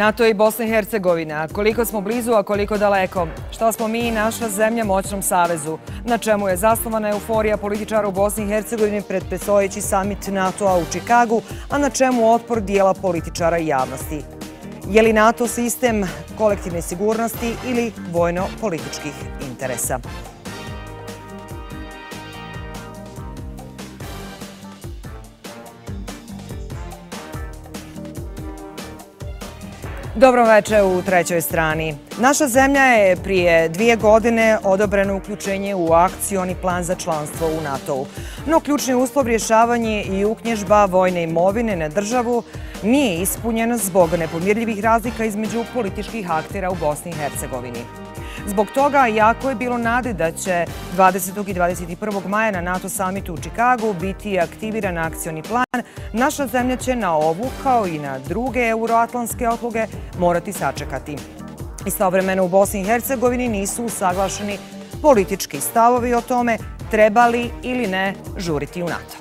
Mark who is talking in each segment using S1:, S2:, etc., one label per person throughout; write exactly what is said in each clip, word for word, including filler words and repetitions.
S1: NATO i Bosna i Hercegovina. Koliko smo blizu, a koliko daleko? Šta smo mi i naša zemlja moćnom savezu? Na čemu je zasnovana euforija političara u Bosni i Hercegovini pred predstojeći samit NATO-a u Čikagu, a na čemu otpor dijela političara i javnosti? Je li NATO sistem kolektivne sigurnosti ili vojno-političkih interesa? Dobro večer u trećoj strani. Naša zemlja je prije dvije godine odobreno uključenje u akcioni plan za članstvo u NATO-u. No ključni uslov rješavanje i uknježba vojne imovine na državu nije ispunjen zbog nepomirljivih razlika između političkih aktera u Bosni i Hercegovini. Zbog toga, jako je bilo nade da će dvadesetog i dvadeset prvog maja na NATO samitu u Čikagu biti aktiviran akcioni plan, naša zemlja će na ovu, kao i na druge euroatlantske odluke, morati sačekati. Istovremeno u Bosni i Hercegovini nisu usaglašeni politički stavovi o tome treba li ili ne žuriti u NATO.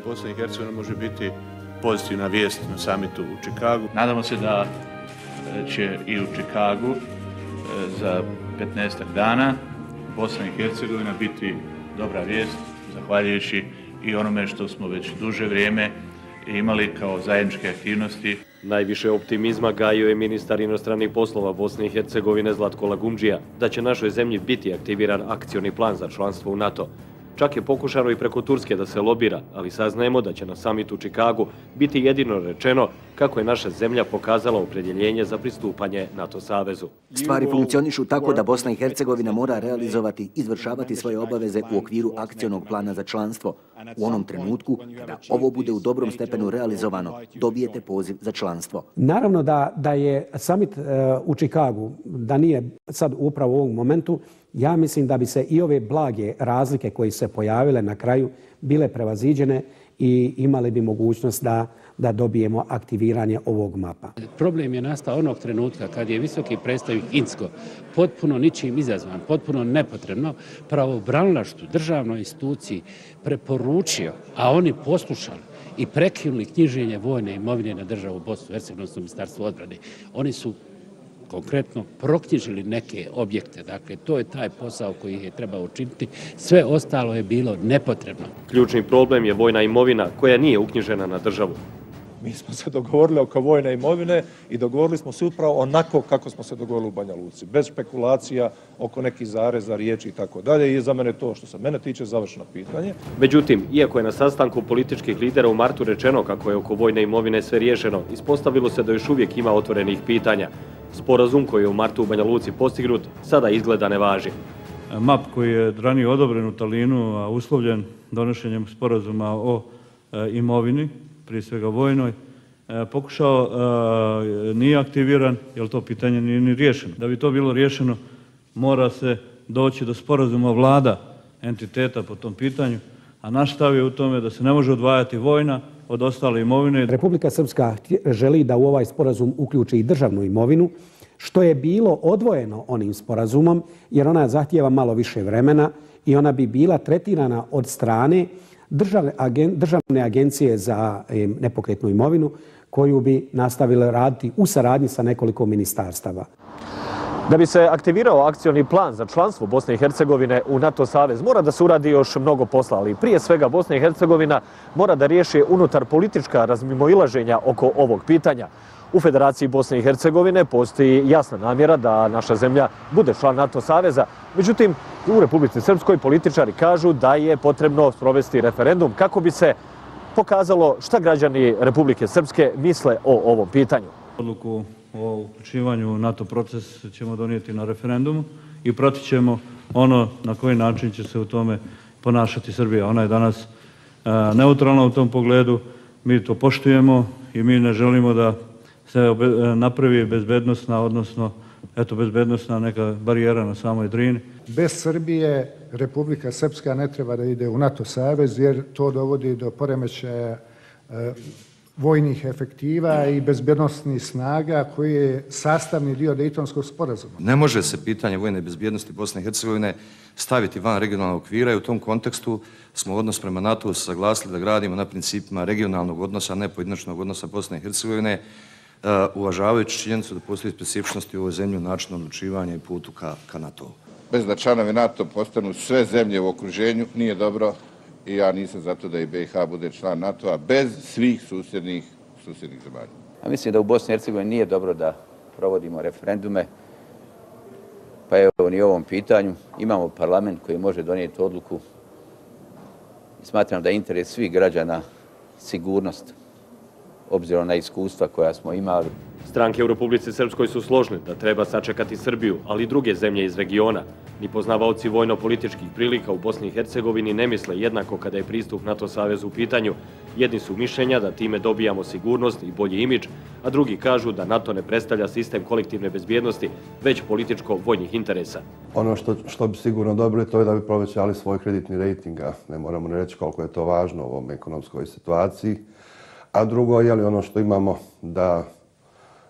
S2: Bosna i Hercegovina može biti pozitivna vijest na samitu u Čikagu.
S3: Nadamo se da će i u Čikagu za petnaestak dana Bosna i Hercegovina biti dobra vijest, zahvaljujući i onome što smo već duže vrijeme imali kao zajedničke aktivnosti.
S4: Najviše optimizma gajio je ministar inostranih poslova Bosne i Hercegovine Zlatko Lagundžija da će našoj zemlji biti aktiviran akcioni plan za članstvo u NATO. Čak je pokušano i preko Turske da se lobira, ali saznajemo da će na samitu u Čikagu biti jedino rečeno kako je naša zemlja pokazala opredjeljenje za pristupanje NATO savezu.
S5: Stvari funkcionišu tako da Bosna i Hercegovina mora realizovati, izvršavati svoje obaveze u okviru akcionog plana za članstvo. U onom trenutku, kada ovo bude u dobrom stepenu realizovano, dobijete poziv za članstvo.
S6: Naravno da, da je samit uh, u Čikagu, da nije sad upravo u ovom momentu, ja mislim da bi se i ove blage razlike koje se pojavile na kraju bile prevaziđene i imali bi mogućnost da, da dobijemo aktiviranje ovog mapa.
S7: Problem je nastao onog trenutka kad je visoki predstavnik Inzko potpuno ničim izazvan, potpuno nepotrebno pravobranilaštvu, državnoj instituciji preporučio, a oni poslušali i prekinuli knjiženje vojne imovine na državu Bosnu i Hercegovinu, odnosno Ministarstvo odbrane. Oni su konkretno proknjižili neke objekte. Dakle, to je taj posao koji je trebao učiniti. Sve ostalo je bilo nepotrebno.
S4: Ključni problem je vojna imovina koja nije uknjižena na državu.
S8: Mi smo se dogovorili oko vojne imovine i dogovorili smo se upravo onako kako smo se dogovorili u Banja Luci. Bez špekulacija oko nekih zareza, riječi i tako dalje. I za mene to što se mene tiče završeno pitanje.
S4: Međutim, iako je na sastanku političkih lidera u martu rečeno kako je oko vojne imovine sve riješeno, ispostavilo se da još uvijek ima otvorenih pitanja. Sporazum koji je u martu u Banja Luci postignut sada izgleda ne važi.
S9: M A P koji je ranije odobren u Talinu, a uslovljen donošenjem sporazuma o e, imovini, prije svega vojnoj, e, pokušao, e, nije aktiviran, jer to pitanje nije ni riješeno. Da bi to bilo riješeno, mora se doći do sporazuma vlada entiteta po tom pitanju, a naš stav je u tome da se ne može odvajati vojna od ostale imovine.
S6: Republika Srpska želi da u ovaj sporazum uključi i državnu imovinu, što je bilo odvojeno onim sporazumom, jer ona zahtijeva malo više vremena i ona bi bila tretirana od strane državne, agen, državne agencije za e, nepokretnu imovinu, koju bi nastavile raditi u saradnji sa nekoliko ministarstava.
S4: Da bi se aktivirao akcioni plan za članstvo Bosne i Hercegovine u NATO savez, mora da se uradi još mnogo posla, ali prije svega Bosna i Hercegovina mora da riješi unutar politička razmimoilaženja oko ovog pitanja. U Federaciji Bosne i Hercegovine postoji jasna namjera da naša zemlja bude član NATO saveza. Međutim, u Republici Srpskoj političari kažu da je potrebno sprovesti referendum kako bi se pokazalo šta građani Republike Srpske misle o ovom pitanju.
S9: Odluku o uključivanju u NATO proces ćemo donijeti na referendumu i pratit ćemo ono na koji način će se u tome ponašati Srbija. Ona je danas neutralna u tom pogledu, mi to poštujemo i mi ne želimo da se napravi bezbednosna, odnosno eto, bezbednosna neka barijera na samoj Drini.
S10: Bez Srbije Republika Srpska ne treba da ide u NATO savez jer to dovodi do poremećaja vojnih efektiva i bezbjednostnih snaga koji je sastavni dio Dejtonskog sporazuma.
S11: Ne može se pitanje vojne bezbjednosti Bosne i Hercegovine staviti van regionalnog okvira i u tom kontekstu smo odnos prema NATO saglasili da gradimo na principima regionalnog odnosa, a ne pojedinačnog odnosa Bosne i Hercegovine, uvažavajući činjenicu da postoji specifičnosti u ovoj zemlji u načinu odlučivanja i putu ka, ka NATO-u.
S12: Bez da članovi NATO postanu sve zemlje u okruženju nije dobro i ja nisam zato da i B i H bude član NATO-a bez svih susjednih, susjednih zemalja.
S13: A mislim da u Bosni i Hercegovini nije dobro da provodimo referendume, pa evo ni u ovom pitanju. Imamo parlament koji može donijeti odluku i smatram da je interes svih građana sigurnost, obzirom na iskustva koja smo imali.
S14: Stranke u Republici Srpskoj su složne da treba sačekati Srbiju, ali i druge zemlje iz regiona. Ni poznavaoci vojno-političkih prilika u Bosni i Hercegovini ne misle jednako kada je pristup NATO savezu u pitanju. Jedni su mišljenja da time dobijamo sigurnost i bolji imidž, a drugi kažu da NATO ne predstavlja sistem kolektivne bezbjednosti, već političko-vojnih interesa.
S15: Ono što, što bi sigurno dobili to je da bi povećali svoj kreditni rejting, a ne moramo ne reći koliko je to važno u ovom ekonomskoj situaciji. A drugo, je li ono što imamo da,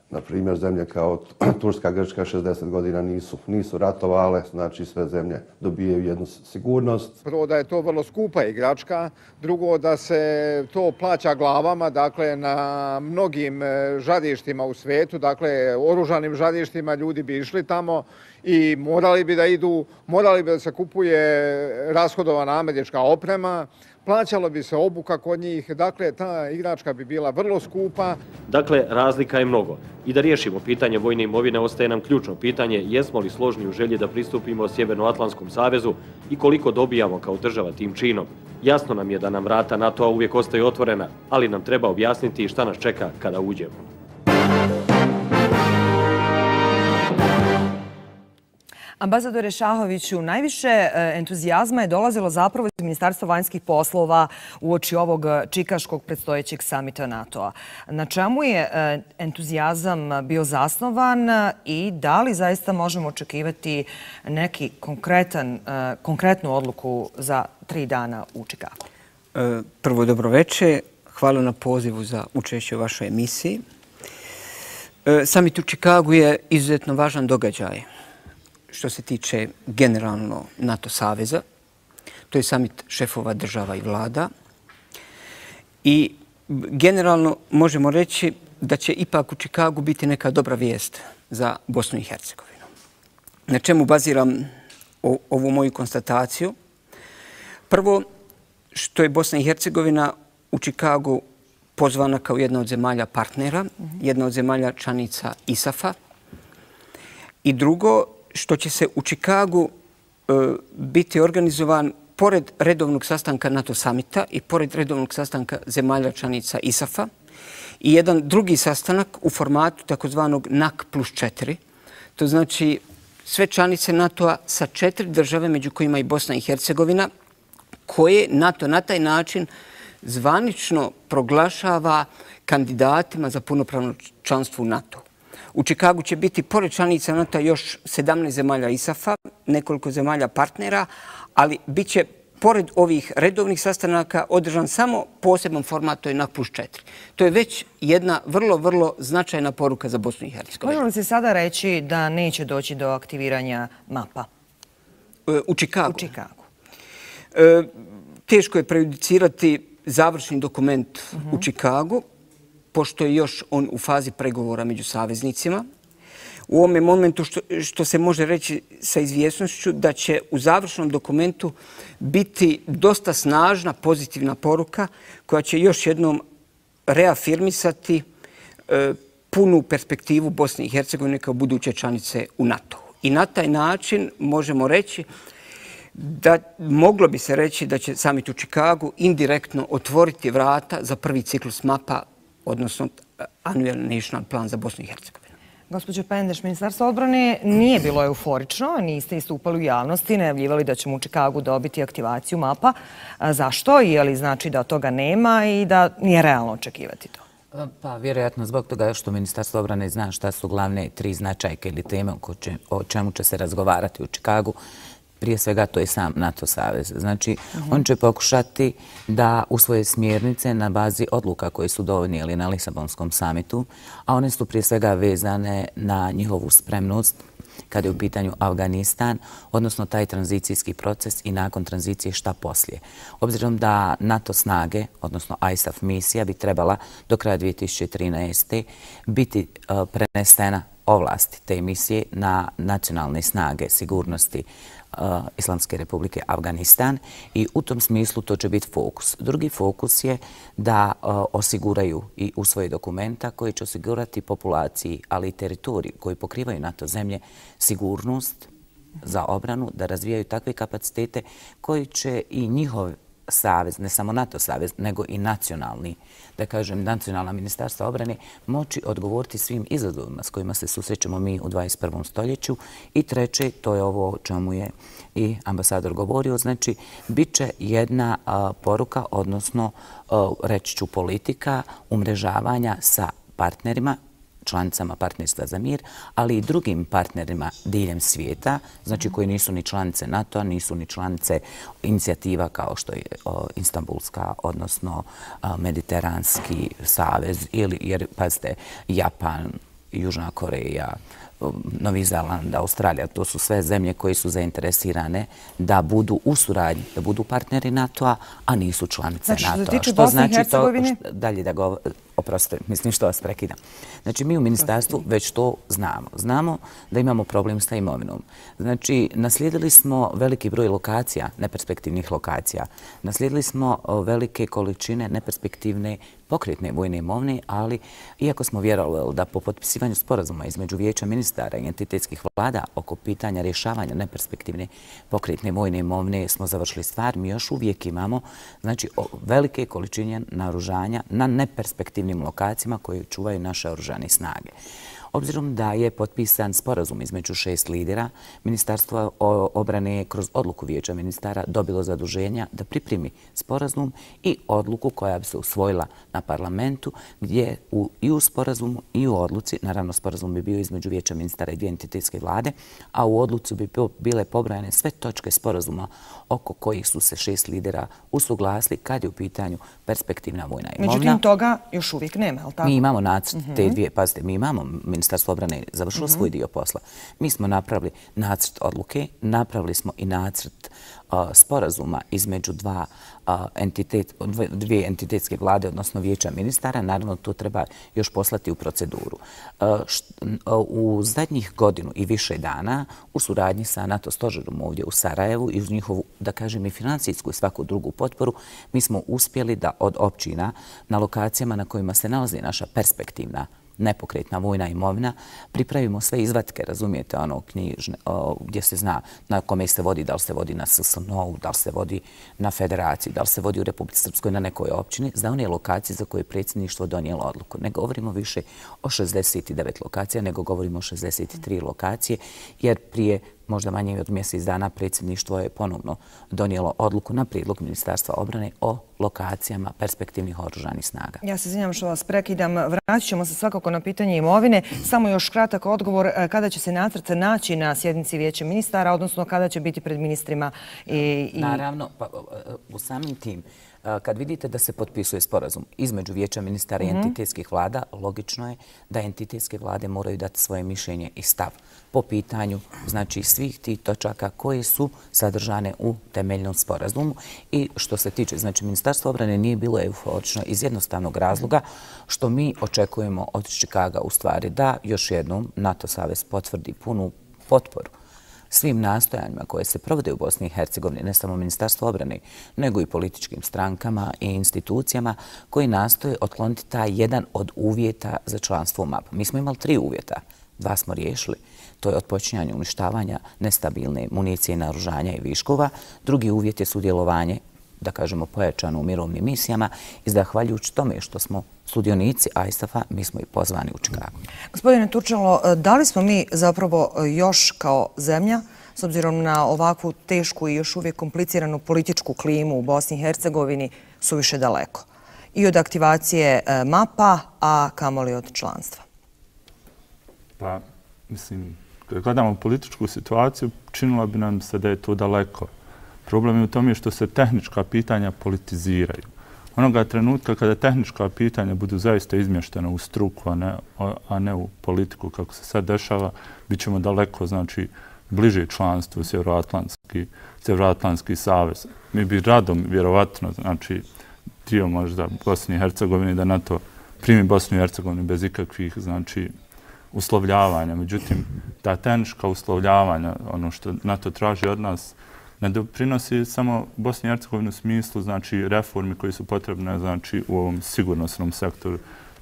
S15: na primjer, zemlje kao Turska, Grčka šezdeset godina nisu, nisu ratovale, znači sve zemlje dobijaju jednu sigurnost.
S16: Prvo da je to vrlo skupa igračka, drugo da se to plaća glavama, dakle na mnogim žarištima u svijetu, dakle oružanim žarištima ljudi bi išli tamo i morali bi da idu, morali bi da se kupuje rashodovana američka oprema, plaćalo bi se obuka kod njih, dakle ta igračka bi bila vrlo skupa.
S14: Dakle, razlika je mnogo. I da riješimo pitanje vojne imovine ostaje nam ključno pitanje jesmo li složni u želji da pristupimo Sjevernoatlantskom savezu i koliko dobijamo kao država tim činom. Jasno nam je da nam vrata NATO-a uvijek ostaju otvorena, ali nam treba objasniti šta nas čeka kada uđemo.
S1: Ambasadore Šahoviću, najviše entuzijazma je dolazilo zapravo iz Ministarstva vanjskih poslova uoči ovog čikaškog predstojećeg samita NATO-a. Na čemu je entuzijazam bio zasnovan i da li zaista možemo očekivati neki konkretan, konkretnu odluku za tri dana u Čikagu?
S17: Prvo, dobroveče. Hvala na pozivu za učešće u vašoj emisiji. Samit u Čikagu je izuzetno važan događaj što se tiče generalno NATO saveza. To je samit šefova država i vlada. I generalno možemo reći da će ipak u Čikagu biti neka dobra vijest za Bosnu i Hercegovinu. Na čemu baziram ovu moju konstataciju? Prvo, što je Bosna i Hercegovina u Čikagu pozvana kao jedna od zemalja partnera, jedna od zemalja članica I S A F-a. I drugo, što će se u Čikagu e, biti organizovan pored redovnog sastanka NATO samita i pored redovnog sastanka zemalja članica I S A F-a i jedan drugi sastanak u formatu takozvanog N A C plus četiri. To znači sve članice NATO-a sa četiri države, među kojima i Bosna i Hercegovina, koje NATO na taj način zvanično proglašava kandidatima za punopravno članstvo u NATO. U Čikagu će biti pored članica NATO još sedamnaest zemalja I S A F-a, nekoliko zemalja partnera, ali bit će pored ovih redovnih sastanaka održan samo poseban format, to je N A C plus četiri. To je već jedna vrlo, vrlo značajna poruka za Bosnu i Hercegovinu.
S1: Možemo li se sada reći da neće doći do aktiviranja mapa?
S17: U Čikagu?
S1: U Čikagu.
S17: E, teško je prejudicirati završni dokument uh-huh. u Čikagu, pošto je još on u fazi pregovora među saveznicima. U ovome momentu što, što se može reći sa izvjesnošću da će u završnom dokumentu biti dosta snažna pozitivna poruka koja će još jednom reafirmisati e, punu perspektivu Bosne i Hercegovine kao buduće članice u NATO. I na taj način možemo reći da moglo bi se reći da će samit u Čikagu indirektno otvoriti vrata za prvi ciklus mapa, odnosno Annual National Plan za Bosnu i Hercegovinu.
S1: Gospođo Pendeš, Ministarstvo odbrane nije bilo euforično, niste istupali u javnosti, najavljivali da ćemo u Čikagu dobiti aktivaciju mapa. Zašto? Je li znači da toga nema i da nije realno očekivati to?
S18: Pa vjerojatno zbog toga što Ministarstvo obrane zna šta su glavne tri značajke ili teme o čemu će se razgovarati u Čikagu. Prije svega to je sam NATO savez. Znači, on će pokušati da usvoje smjernice na bazi odluka koje su donijeli na Lisabonskom samitu, a one su prije svega vezane na njihovu spremnost kada je u pitanju Afganistan, odnosno taj tranzicijski proces i nakon tranzicije šta poslije. Obzirom da NATO snage, odnosno I S A F misija, bi trebala do kraja dvije tisuće trinaeste. biti prenesena ovlasti te misije na nacionalne snage sigurnosti Islamske republike Afganistan i u tom smislu to će biti fokus. Drugi fokus je da osiguraju i usvoje dokumenta koji će osigurati populaciji, ali i teritoriji koji pokrivaju NATO zemlje sigurnost za obranu, da razvijaju takve kapacitete koji će i njihov savez, ne samo NATO savez, nego i nacionalni, da kažem, nacionalna ministarstva obrane, moći odgovoriti svim izazovima s kojima se susrećemo mi u dvadeset prvom stoljeću. I treće, to je ovo o čemu je i ambasador govorio, znači, bit će jedna poruka, odnosno, reći ću, politika umrežavanja sa partnerima, članicama Partnerstva za mir, ali i drugim partnerima diljem svijeta, znači koji nisu ni članice NATO-a, nisu ni članice inicijativa kao što je Istanbulska, odnosno Mediteranski savez, ili, jer, pazite, Japan, Južna Koreja, Novi Zeland, Australija, to su sve zemlje koje su zainteresirane da budu u suradnji, da budu partneri NATO-a, a nisu članice NATO-a.
S1: Znači, što se tiče Bosne i Hercegovine?
S18: Dalje da go... Oprostite, mislim što vas prekidam. Znači, mi u ministarstvu već to znamo. Znamo da imamo problem sa imovinom. Znači, naslijedili smo veliki broj lokacija, neperspektivnih lokacija. Naslijedili smo velike količine neperspektivne pokretne vojne imovine, ali iako smo vjerovali da po potpisivanju sporazuma između Vijeća ministara i entitetskih vlada oko pitanja rješavanja neperspektivne pokretne vojne imovine smo završili stvar, mi još uvijek imamo znači, velike količine naoružanja na neperspektivnim lokacijama koje čuvaju naše oružane snage. Obzirom da je potpisan sporazum između šest lidera, Ministarstvo obrane je kroz odluku Vijeća ministara dobilo zaduženja da pripremi sporazum i odluku koja bi se usvojila na parlamentu, gdje u, i u sporazumu i u odluci, naravno sporazum bi bio između Vijeća ministara i dvije entitetske vlade, a u odluci bi bile pobrojane sve točke sporazuma oko kojih su se šest lidera usuglasili kad je u pitanju perspektivna vojna imovina.
S1: Međutim, toga još uvijek nema, je li tako?
S18: Mi imamo nacrt te dvije, pazite, mi imamo Ministarstvo obrane završilo svoj dio posla. Mi smo napravili nacrt odluke, napravili smo i nacrt sporazuma između dva entitet, dvije entitetske vlade, odnosno Vijeća ministara. Naravno, to treba još poslati u proceduru. U zadnjih godinu i više dana u suradnji sa NATO stožerom ovdje u Sarajevu i uz njihovu, da kažem, i financijsku i svaku drugu potporu, mi smo uspjeli da od općina na lokacijama na kojima se nalazi naša perspektivna nepokretna vojna imovina, pripravimo sve izvatke, razumijete, ono knjižne, gdje se zna na kome se vodi, da li se vodi na S S N O-u, da li se vodi na Federaciji, da li se vodi u Republici Srpskoj na nekoj općini, za one lokacije za koje je predsjedništvo donijelo odluku. Ne govorimo više o šezdeset devet lokacija, nego govorimo o šezdeset tri lokacije, jer prije možda manje od mjesec dana predsjedništvo je ponovno donijelo odluku na prijedlog Ministarstva obrane o lokacijama perspektivnih oružanih snaga.
S1: Ja se izvinjam što vas prekidam. Vratit ćemo se svakako na pitanje imovine. Samo još kratak odgovor kada će se nacrt naći na sjednici Vijeća ministara, odnosno kada će biti pred ministrima i...
S18: Naravno, pa, u samim tim, kad vidite da se potpisuje sporazum između Vijeća ministara i entitetskih vlada, logično je da entitetske vlade moraju dati svoje mišljenje i stav po pitanju znači svih tih točaka koje su sadržane u temeljnom sporazumu. I što se tiče, znači Ministarstvo obrane nije bilo euforično iz jednostavnog razloga što mi očekujemo od Čikaga u stvari da još jednom NATO savez potvrdi punu potporu svim nastojanjima koje se provode u Bosni i Hercegovini, ne samo Ministarstvo obrane, nego i političkim strankama i institucijama koji nastoje otkloniti taj jedan od uvjeta za članstvo u M A P. Mi smo imali tri uvjeta, dva smo riješili. To je otpočinjanje uništavanja nestabilne municije, naoružanja i viškova. Drugi uvjet je sudjelovanje, da kažemo, pojačano u mirovnim misijama i zahvaljujući tome što smo sudionici I S A F-a, mi smo i pozvani u Čikagu.
S1: Gospodine Turčalo, da li smo mi zapravo još kao zemlja, s obzirom na ovakvu tešku i još uvijek kompliciranu političku klimu u Bosni i Hercegovini, suviše daleko? i od aktivacije mapa, a kamoli od članstva?
S19: Pa, mislim, kada gledamo političku situaciju, činilo bi nam se da je to daleko. Problem je u tome što se tehnička pitanja politiziraju. Onoga trenutka kada tehnička pitanja budu zaista izmještena u struku, a ne, a ne u politiku kako se sad dešava, bit ćemo daleko, znači, bliže članstvu Sjevernoatlantski, Sjevernoatlantski savez. Mi bi radom, vjerovatno, znači, dio možda Bosni i Hercegovini da NATO primi Bosnu i Hercegovinu bez ikakvih, znači, uslovljavanja. Međutim, ta tehnička uslovljavanja, ono što NATO traži od nas, ne doprinosi samo Bosni i Hercegovini u smislu, znači, reformi koji su potrebne, znači, u ovom sigurnosnom sektoru.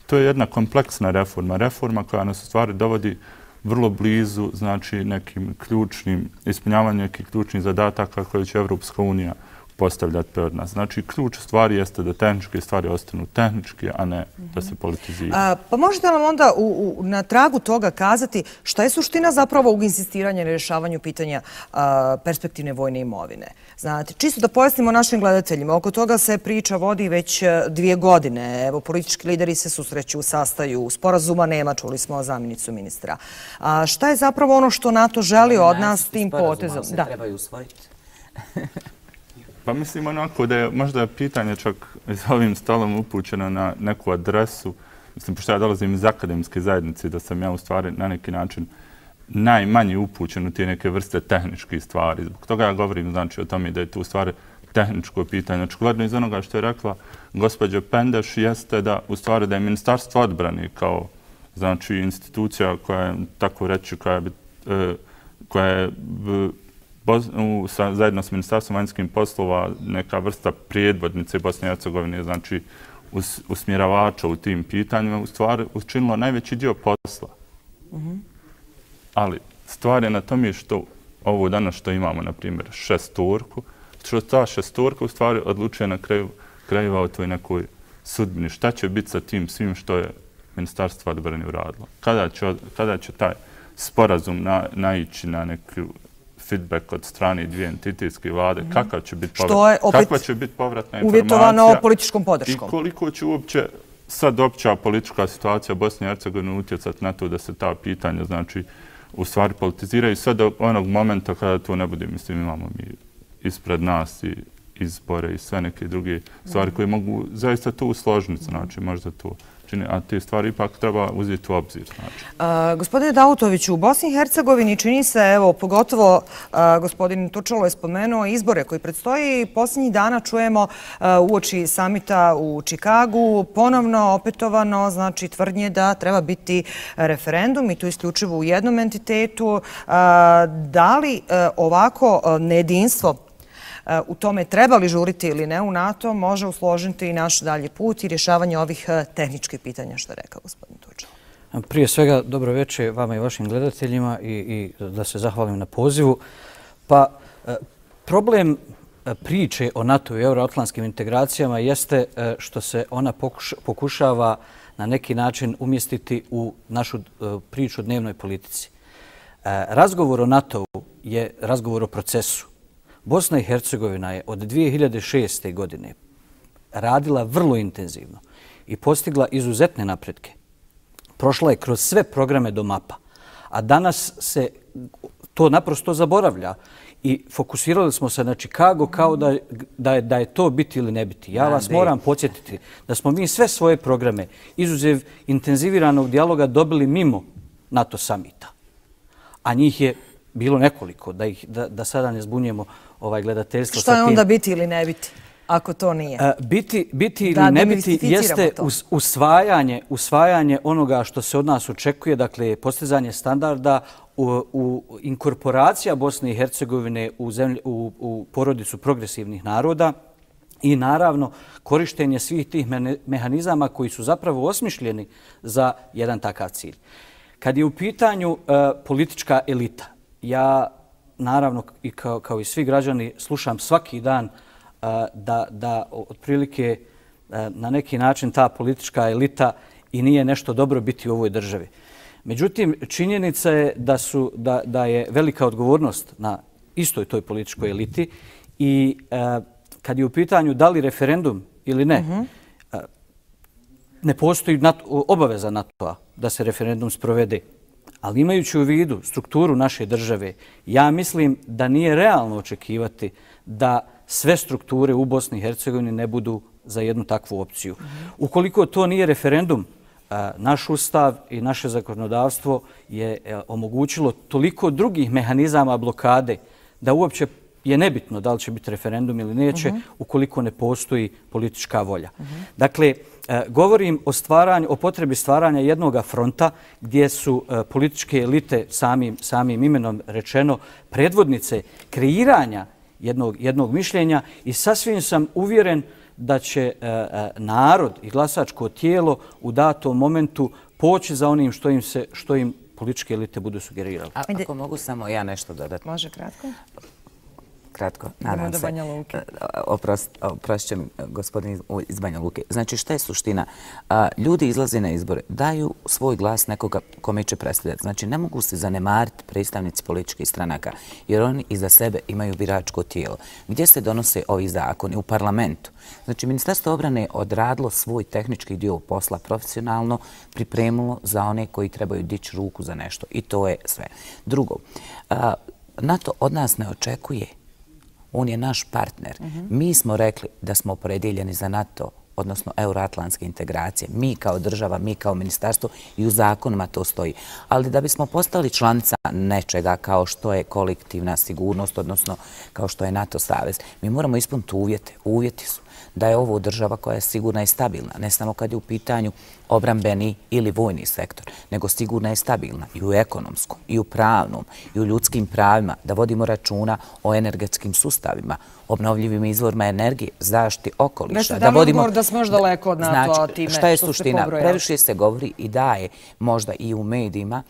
S19: To je jedna kompleksna reforma. Reforma koja nas u stvari dovodi vrlo blizu, znači, nekim ključnim, ispunjavanju nekih ključnih zadataka koje će Evropska unija postavljati pred nas. Znači, ključ stvari jeste da tehničke stvari ostanu tehničke, a ne da se politiziraju.
S1: A, pa možete nam onda u, u, na tragu toga kazati šta je suština zapravo u insistiranju na rješavanju pitanja a, perspektivne vojne imovine? Znate, čisto da pojasnimo našim gledateljima, oko toga se priča vodi već dvije godine. Evo, politički lideri se susreću, sastaju, sporazuma nema, čuli smo zamjenicu ministra. A, šta je zapravo ono što NATO želi od nas tim potezom?
S18: Da, trebaju usvojiti.
S19: Pa mislim onako da je možda pitanje čak s ovim stolom upućeno na neku adresu. Mislim, pošto ja dolazim iz akademske zajednice, da sam ja u stvari na neki način najmanje upućen u te neke vrste tehničkih stvari. Zbog toga ja govorim, znači, o tome da je tu u stvari tehničko pitanje. Očigledno iz onoga što je rekla gospođa Pendeš jeste da u stvari da je Ministarstvo odbrane kao, znači, institucija koja je, tako reći, koja je, koja je U, sa, zajedno s Ministarstvom vanjskih poslova neka vrsta prijedvodnice Bosne i Hercegovine, znači us, usmjeravača u tim pitanjima, u stvari učinilo najveći dio posla. Mm-hmm. Ali stvar je na tome što ovo danas što imamo, na primjer, šestorku, što ta šestorka u stvari odlučuje na kraju krajeva o toj nekoj sudbini. Šta će biti sa tim svim što je Ministarstvo odbrane uradilo? Kada će, kada će taj sporazum na, naići na neku feedback od strane dvije entitetske vlade, mm-hmm. kakav će biti povrat, kakva će biti povratna informacija
S1: uvjetovano političkom podrškom.
S19: I koliko će uopće sad opća politička situacija Bosne i Hercegovine utjecati na to da se ta pitanja, znači, u stvari politiziraju sve do onog momenta kada to ne bude. Mislim, imamo mi ispred nas i izbore i sve neke druge stvari koje mogu zaista to usložiti, znači, možda to čini, a te stvari ipak treba uzeti u obzir. Znači.
S1: A, gospodine Davutoviću, u Bosni i Hercegovini čini se, evo, pogotovo a, gospodin Tučalo je spomenuo izbore koji predstoji. Posljednjih dana čujemo a, uoči samita u Čikagu ponovno opetovano, znači, tvrdnje da treba biti referendum i to isključivo u jednom entitetu. A, da li a, ovako a, nejedinstvo u tome treba li žuriti ili ne u NATO, može usložiti i naš dalji put i rješavanje ovih tehničkih pitanja, što je rekao gospodin Tučalo.
S20: Prije svega, dobro večer vama i vašim gledateljima i, i da se zahvalim na pozivu. Pa, problem priče o NATO i euroatlantskim integracijama jeste što se ona pokuša, pokušava na neki način umjestiti u našu priču o dnevnoj politici. Razgovor o NATO-u je razgovor o procesu. Bosna i Hercegovina je od dvije hiljade šeste. godine radila vrlo intenzivno i postigla izuzetne napretke. Prošla je kroz sve programe do mapa, a danas se to naprosto zaboravlja i fokusirali smo se na Čikago kao da, da, je, da je to biti ili ne biti. Ja vas moram podsjetiti da smo mi sve svoje programe izuzev intenziviranog dijaloga dobili mimo NATO samita, a njih je bilo nekoliko, da, ih, da, da sada ne zbunjemo ovaj gledateljstvo.
S1: Šta je onda biti ili ne biti, ako to nije?
S20: Uh, biti, biti ili da, ne biti jeste us, usvajanje, usvajanje onoga što se od nas očekuje, dakle postizanje standarda, u, u inkorporacija Bosne i Hercegovine u, zemlji, u, u porodicu progresivnih naroda i naravno korištenje svih tih mehanizama koji su zapravo osmišljeni za jedan takav cilj. Kad je u pitanju uh, politička elita, ja naravno i kao, kao i svi građani slušam svaki dan uh, da, da otprilike uh, na neki način ta politička elita i nije nešto dobro biti u ovoj državi. Međutim, činjenica je da, su, da, da je velika odgovornost na istoj toj političkoj eliti i uh, kad je u pitanju da li referendum ili ne, uh-huh. uh, ne postoji obaveza NATO-a da se referendum sprovede. Ali imajući u vidu strukturu naše države, ja mislim da nije realno očekivati da sve strukture u Bosni i Hercegovini ne budu za jednu takvu opciju. Ukoliko to nije referendum, naš ustav i naše zakonodavstvo je omogućilo toliko drugih mehanizama blokade da uopće je nebitno da li će biti referendum ili neće ukoliko ne postoji politička volja. Dakle, govorim o stvaranju, o potrebi stvaranja jednog fronta gdje su političke elite samim, samim imenom rečeno predvodnice kreiranja jednog, jednog mišljenja i sasvim sam uvjeren da će narod i glasačko tijelo u datom momentu poći za onim što im, se, što im političke elite budu sugerirali.
S18: A, ako mogu samo ja nešto dodati.
S1: Može kratko?
S18: Kratko, nadam se. Oprost, oprost će mi gospodin iz Banja Luke. Znači, šta je suština? Ljudi izlaze na izbore, daju svoj glas nekoga kome će predstavljati. Znači, ne mogu se zanemariti predstavnici političkih stranaka, jer oni iza sebe imaju biračko tijelo. Gdje se donose ovi zakoni? U parlamentu. Znači, Ministarstvo obrane je odradilo svoj tehnički dio posla profesionalno, pripremilo za one koji trebaju dići ruku za nešto. I to je sve. Drugo, NATO od nas ne očekuje. On je naš partner. Mi smo rekli da smo opredjeljeni za NATO, odnosno euroatlantske integracije. Mi kao država, mi kao ministarstvo i u zakonima to stoji. Ali da bismo postali članica nečega kao što je kolektivna sigurnost, odnosno kao što je NATO savez, mi moramo ispuniti uvjete. Uvjeti su da je ovo država koja je sigurna i stabilna, ne samo kad je u pitanju obrambeni ili vojni sektor, nego sigurna i stabilna i u ekonomskom, i u pravnom, i u ljudskim pravima, da vodimo računa o energetskim sustavima, obnovljivim izvorima energije, zaštiti okoliša.
S1: Nešto tamo odgovor da smo još daleko od NATO-a time
S18: što je suština? Previše se govori i daje možda i u medijima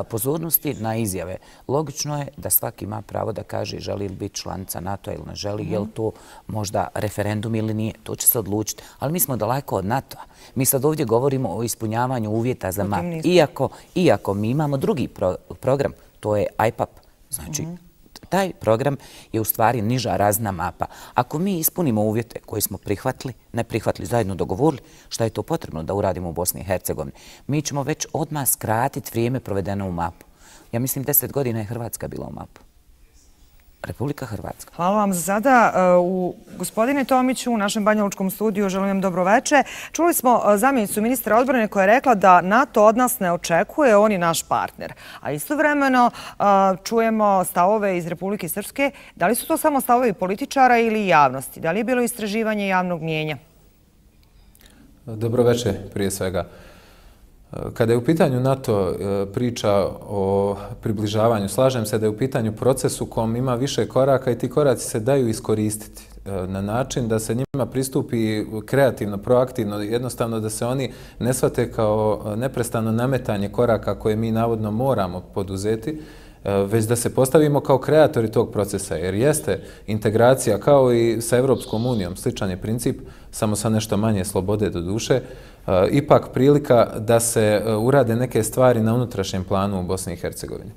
S18: pozornosti na izjave. Logično je da svaki ima pravo da kaže želi li biti članica NATO ili ne želi, je li to možda referendum ili nije. To će se odlučiti. Ali mi smo daleko od NATO-a. Mi sad ovdje govorimo o ispunjavanju uvjeta za map. Iako, iako mi imamo drugi pro, program, to je I P A P. Znači, taj program je u stvari niža razna mapa. Ako mi ispunimo uvjete koje smo prihvatili, ne prihvatili, zajedno dogovorili, šta je to potrebno da uradimo u Bosni i Hercegovini, mi ćemo već odmah skratiti vrijeme provedeno u mapu. Ja mislim deset godina je Hrvatska bila u mapu. Republika Hrvatska.
S1: Hvala vam za sada. U gospodine Tomiću, u našem banjalučkom studiju, želim vam dobroveče. Čuli smo zamjenicu ministra odbrane koja je rekla da NATO od nas ne očekuje, on je naš partner. A istovremeno čujemo stavove iz Republike Srpske. Da li su to samo stavovi političara ili javnosti? Da li je bilo istraživanje javnog mnijenja?
S21: Dobroveče prije svega. Kada je u pitanju NATO priča o približavanju, slažem se da je u pitanju proces u kom ima više koraka i ti koraci se daju iskoristiti na način da se njima pristupi kreativno, proaktivno, jednostavno da se oni ne shvate kao neprestano nametanje koraka koje mi navodno moramo poduzeti, već da se postavimo kao kreatori tog procesa, jer jeste integracija kao i sa Evropskom unijom, sličan je princip, samo sa nešto manje slobode do duše, ipak prilika da se urade neke stvari na unutrašnjem planu u Bosni i Hercegovini.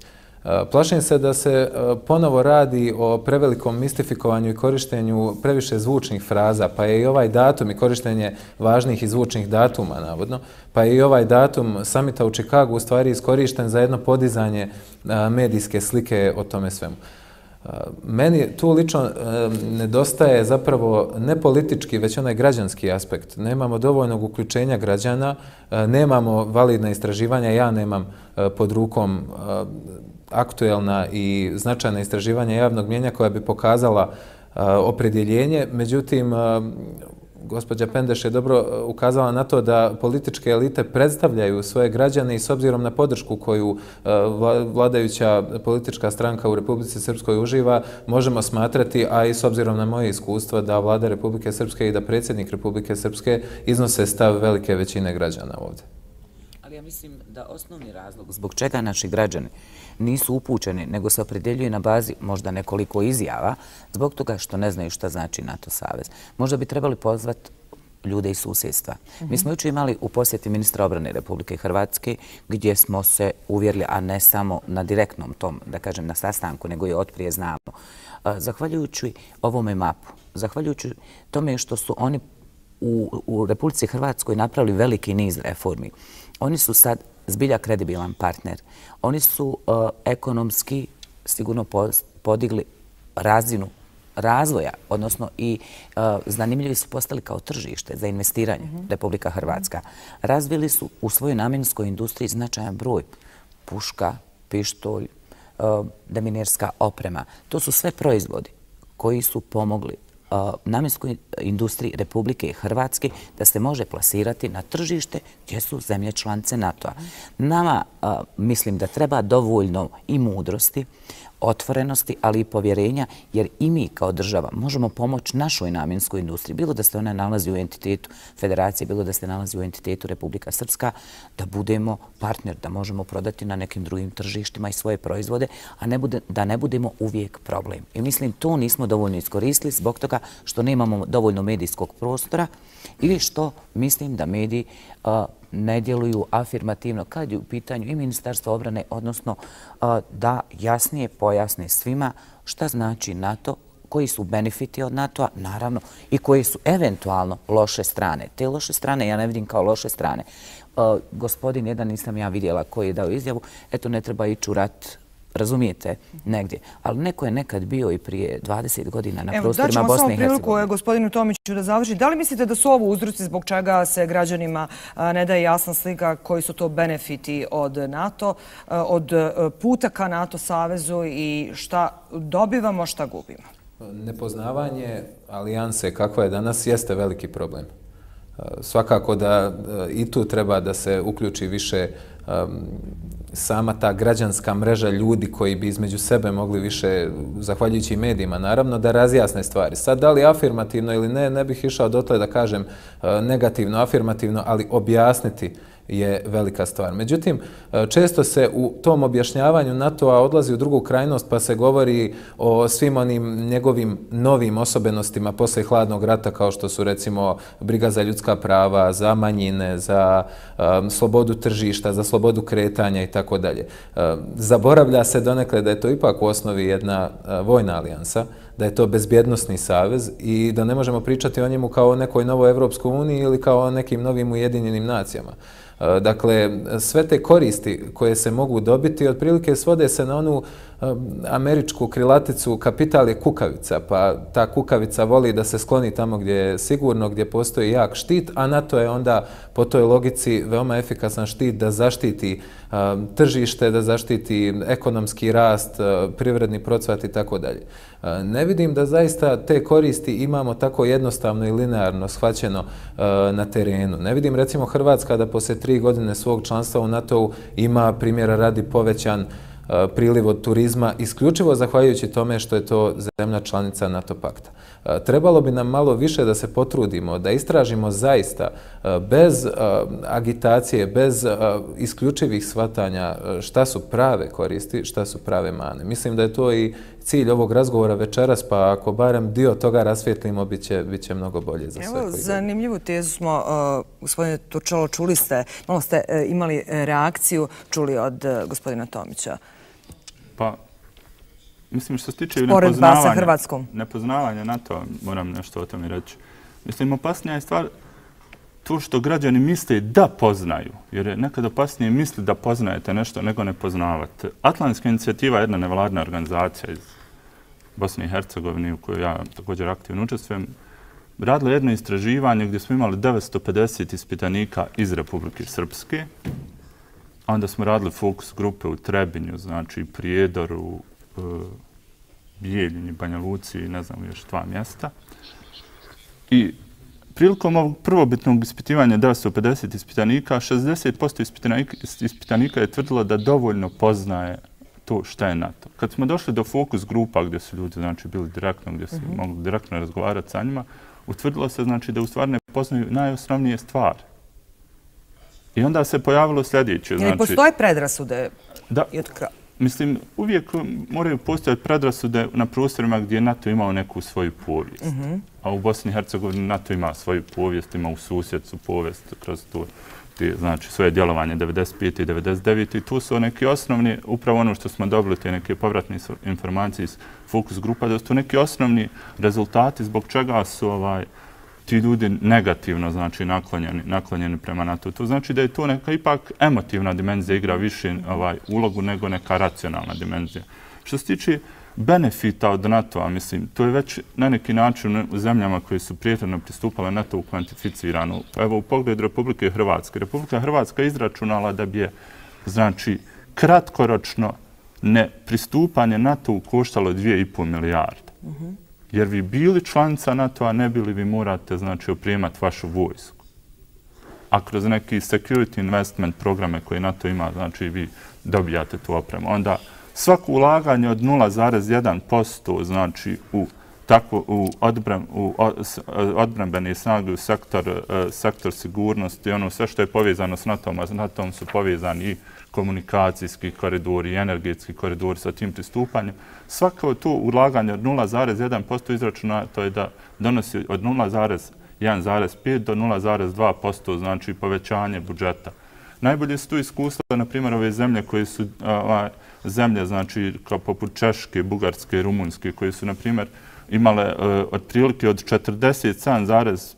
S21: Plašim se da se ponovo radi o prevelikom mistifikovanju i korištenju previše zvučnih fraza, pa je i ovaj datum i korištenje važnih i zvučnih datuma, navodno, pa je i ovaj datum samita u Čikagu u stvari iskorišten za jedno podizanje medijske slike o tome svemu. Meni tu lično nedostaje zapravo ne politički, već onaj građanski aspekt. Nemamo dovoljnog uključenja građana, nemamo validna istraživanja, ja nemam pod rukom aktuelna i značajna istraživanja javnog mnijenja koja bi pokazala opredjeljenje. Međutim, gospođa Pendeš je dobro ukazala na to da političke elite predstavljaju svoje građane i s obzirom na podršku koju vladajuća politička stranka u Republici Srpskoj uživa, možemo smatrati, a i s obzirom na moje iskustvo, da vlada Republike Srpske i da predsjednik Republike Srpske iznose stav velike većine građana ovdje.
S18: Ali ja mislim da osnovni razlog zbog čega naši građani nisu upućeni, nego se opredjeljuju na bazi možda nekoliko izjava, zbog toga što ne znaju šta znači NATO savez. Možda bi trebali pozvati ljude iz susjedstva. Mi smo jučer imali u posjeti ministra obrane Republike Hrvatske, gdje smo se uvjerili, a ne samo na direktnom tom, da kažem, na sastanku, nego i otprije znamo. Zahvaljujući ovome mapu, zahvaljujući tome što su oni u, u Republici Hrvatskoj napravili veliki niz reformi. Oni su sad zbilja kredibilan partner. Oni su uh, ekonomski sigurno podigli razinu razvoja, odnosno i uh, zanimljivi su postali kao tržište za investiranje mm-hmm. Republika Hrvatska. Razvili su u svojoj namjenskoj industriji značajan broj puška, pištolj, uh, deminerska oprema. To su sve proizvodi koji su pomogli namjenskoj industriji Republike Hrvatske da se može plasirati na tržište gdje su zemlje članice NATO-a. Nama mislim da treba dovoljno i mudrosti, otvorenosti, ali i povjerenja, jer i mi kao država možemo pomoći našoj namjenskoj industriji, bilo da se ona nalazi u entitetu Federacije, bilo da se nalazi u entitetu Republika Srpska, da budemo partner, da možemo prodati na nekim drugim tržištima i svoje proizvode, a ne bude, da ne budemo uvijek problem. I mislim, to nismo dovoljno iskoristili zbog toga što nemamo dovoljno medijskog prostora ili što mislim da mediji a, ne djeluju afirmativno kad je u pitanju i Ministarstvo obrane, odnosno a, da jasnije pojasne svima šta znači NATO, koji su benefiti od NATO-a, naravno, i koji su eventualno loše strane. Te loše strane ja ne vidim kao loše strane. A, gospodin jedan nisam ja vidjela koji je dao izjavu, eto ne treba ići u rat, razumijete, negdje. Ali neko je nekad bio i prije dvadeset godina na prostorima Bosne i Hercegovine. Evo, daćemo samo
S1: priliku gospodinu Tomiću da završi. Da li mislite da su ovo uzroci zbog čega se građanima ne daje jasna slika koji su to benefiti od NATO, od puta ka NATO savezu i šta dobivamo, šta gubimo?
S21: Nepoznavanje alijanse kakva je danas jeste veliki problem. Svakako da i tu treba da se uključi više sama ta građanska mreža ljudi koji bi između sebe mogli više, zahvaljujući medijima, naravno, da razjasne stvari. Sad, da li afirmativno ili ne, ne bih išao dotle da kažem negativno, afirmativno, ali objasniti je velika stvar. Međutim, često se u tom objašnjavanju NATO-a odlazi u drugu krajnost pa se govori o svim onim njegovim novim osobenostima posle hladnog rata kao što su recimo briga za ljudska prava, za manjine, za um, slobodu tržišta, za slobodu kretanja i tako dalje. Zaboravlja se donekle da je to ipak u osnovi jedna uh, vojna alijansa, da je to bezbjednosni savez i da ne možemo pričati o njemu kao o nekoj novoj Evropskoj uniji ili kao o nekim novim ujedinjenim nacijama. Dakle, sve te koristi koje se mogu dobiti otprilike svode se na onu američku krilaticu kapital je kukavica, pa ta kukavica voli da se skloni tamo gdje je sigurno, gdje postoji jak štit, a NATO je onda po toj logici veoma efikasan štit da zaštiti tržište, da zaštiti ekonomski rast, privredni procvat i tako dalje. Ne vidim da zaista te koristi imamo tako jednostavno i linearno shvaćeno na terenu. Ne vidim recimo Hrvatska da poslije tri godine svog članstva u NATO-u ima primjera radi povećan priliv od turizma, isključivo zahvaljujući tome što je to zemlja članica NATO pakta. Trebalo bi nam malo više da se potrudimo, da istražimo zaista bez agitacije, bez isključivih shvatanja šta su prave koristi, šta su prave mane. Mislim da je to i cilj ovog razgovora večeras, pa ako barem dio toga rasvijetlimo, bit će, bit će mnogo bolje za sve.
S1: Evo, zanimljivu tezu smo, uh, gospodine Turčalo, čuli ste, malo ste uh, imali reakciju, čuli od uh, gospodina Tomića.
S19: Pa, mislim, što se tiče nepoznavanja, nepoznavanja NATO, moram nešto o tome reći. Mislim, opasnija je stvar to što građani misle da poznaju, jer je nekad opasnije misli da poznajete nešto nego ne poznavate. Atlantska inicijativa je jedna nevladna organizacija iz Bosne i Hercegovine u kojoj ja također aktivno učestvujem. Radila jedno istraživanje gdje smo imali devetsto pedeset ispitanika iz Republike Srpske. Onda smo radili fokus grupe u Trebinju, znači Prijedoru, Bijeljini, Banja Luci i ne znam još dva mjesta. I prilikom ovog prvobitnog ispitivanja devetsto pedeset ispitanika, šezdeset posto ispitanika, ispitanika je tvrdilo da dovoljno poznaje to šta je NATO. Kad smo došli do fokus grupa gdje su ljudi znači, bili direktno, gdje su mm-hmm. mogli direktno razgovarati sa njima, utvrdilo se znači, da u stvari ne poznaju najosnovnije stvari. I onda se pojavilo sljedeće.
S1: Znači, postoje predrasude?
S19: Da. Mislim, uvijek moraju postojati predrasude na prostorima gdje NATO imao neku svoju povijest. Mm-hmm. A u Bosni i Hercegovini NATO ima svoju povijest, ima u susjedcu povijest kroz to, te, znači, svoje djelovanje devedeset pete i devedeset devete i tu su neki osnovni, upravo ono što smo dobili, te neke povratne informacije iz fokus grupa, da su to neki osnovni rezultati zbog čega su ovaj, ti ljudi negativno, znači, naklonjeni, naklonjeni prema NATO. To znači da je to neka ipak emotivna dimenzija igra više ovaj, ulogu nego neka racionalna dimenzija. Što se tiče benefita od NATO-a, mislim, to je već na neki način u zemljama koje su prijetredno pristupale NATO-u kvantificirano. Evo, u pogledu Republike Hrvatske. Republika Hrvatska je izračunala da bi je, znači, kratkoročno ne pristupanje NATO-u koštalo dvije i pol milijarde. Uh-huh. Jer vi bili članica NATO-a, ne bili vi morate, znači, oprijemati vašu vojsku. A kroz neki security investment programe koje NATO ima, znači, vi dobijate tu opremu. Onda svako ulaganje od nula zarez jedan posto, znači, u tako u, odbran, u odbrambene snage, u sektor, sektor sigurnosti, ono sve što je povezano s NATO-om, a s NATO-om su povezani i komunikacijski koridori, i energetski koridori sa tim pristupanjem. Svako to ulaganje od nula zarez jedan posto izračuna, to je da donosi od nula zarez jedan zarez pet do nula zarez dva posto, znači povećanje budžeta. Najbolje su tu iskustva, na primjer, ove zemlje koje su a, zemlje, znači, kao poput Češke, Bugarske, Rumunjske, koje su, na primjer, imale uh, otprilike od četrdeset sedam zarez,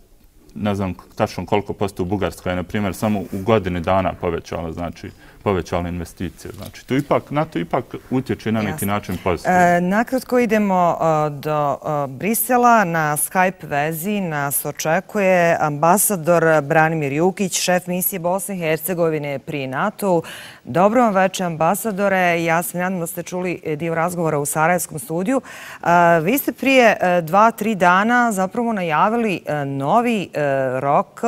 S19: ne znam tačno koliko posto u Bugarskoj je, na primjer, samo u godini dana povećala, znači, povećala investicije. Znači, to ipak, NATO ipak utječe na neki Jasne. način pozitivno.
S1: E, nakratko idemo uh, do uh, Brisela. Na Skype vezi nas očekuje ambasador Branimir Jukić, šef misije Bosne i Hercegovine pri NATO-u. Dobro vam večer, ambasadore. Ja sam nadam da ste čuli dio razgovora u Sarajevskom studiju. Uh, vi ste prije uh, dva, tri dana zapravo najavili uh, novi uh, rok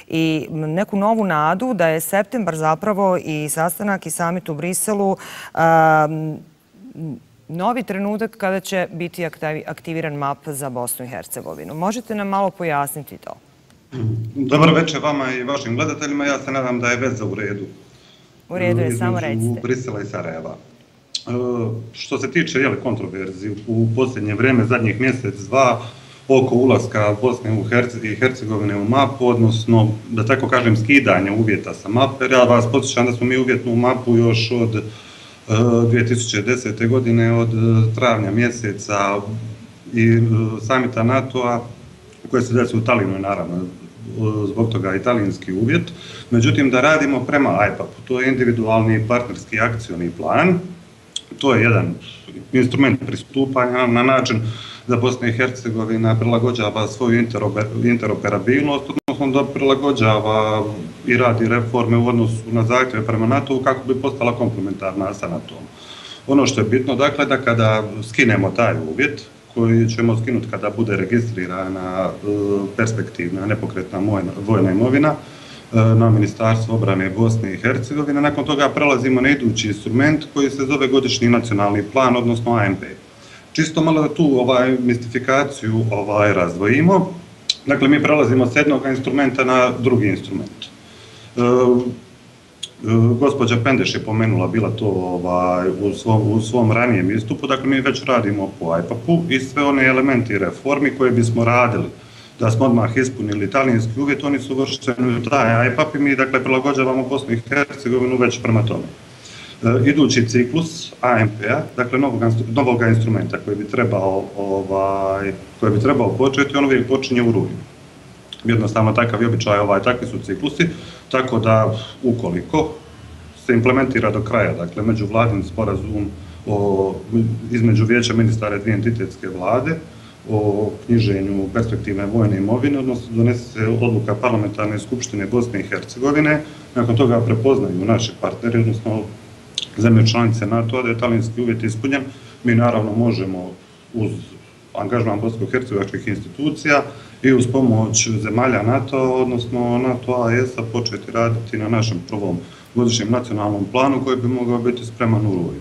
S1: i neku novu nadu da je septembar zapravo i sastanak i samit u Briselu um, novi trenutak kada će biti aktiviran map za Bosnu i Hercegovinu. Možete nam malo pojasniti to?
S2: Dobar večer vama i vašim gledateljima. Ja se nadam da je veza u redu.
S1: U redu je, samo recite.
S2: U Brisela i Sarajeva. Što se tiče jeli, kontroverzi u posljednje vrijeme, zadnjih mjesec, dva, oko ulaska Bosne i Hercegovine u mapu, odnosno, da tako kažem, skidanje uvjeta sa mape. Ja vas podsjećam da smo mi uvjetnu mapu još od dvije tisuće desete. godine, od travnja mjeseca i samita NATO-a, koje se desilo u Talinu, naravno, zbog toga italijanski uvjet. Međutim, da radimo prema I P A P-u, to je individualni partnerski akcioni plan. To je jedan instrument pristupanja na način da Bosna i Hercegovina prilagođava svoju interoperabilnost, odnosno da prilagođava i radi reforme u odnosu na zahtjeve prema NATO-u kako bi postala komplementarna sa NATO-om. Ono što je bitno, dakle, da kada skinemo taj uvjet, koji ćemo skinuti kada bude registrirana perspektivna nepokretna vojna imovina na Ministarstvo obrane Bosne i Hercegovine, nakon toga prelazimo na idući instrument koji se zove godišnji nacionalni plan, odnosno A N P. Čisto malo da tu ovaj, mistifikaciju ovaj, razdvojimo. Dakle, mi prelazimo s jednog instrumenta na drugi instrument. E, Gospođa Pendeš je pomenula bila to ovaj, u, svom, u svom ranijem istupu, dakle mi već radimo po I P A P-u i sve one elementi reformi koje bismo radili da smo odmah ispunili italijanski uvjet, oni su uvršteni u taj I P A P i mi dakle prilagođavamo Bosnu i Hercegovinu već prema tome. E, idući ciklus A N P-a, dakle novog, novog instrumenta koji bi trebao, ovaj, koji bi trebao početi, on uvijek počinje u rujnu. Jednostavno takav je običaj, ovaj, takvi su ciklusi, tako da ukoliko se implementira do kraja, dakle međuvladin sporazum o, između vijeća ministara dvije entitetske vlade o knjiženju perspektivne vojne imovine, odnosno donese se odluka parlamentarne skupštine Bosne i Hercegovine, nakon toga prepoznaju naši partneri, odnosno zemlje članice NATO-a, da je talijanski uvjet ispunjen, mi naravno možemo uz angažman bosansko-hercegovačkih institucija i uz pomoć zemalja NATO, odnosno NATO-a i E S-a početi raditi na našem prvom godišnjem nacionalnom planu koji bi mogao biti spreman u rujnu.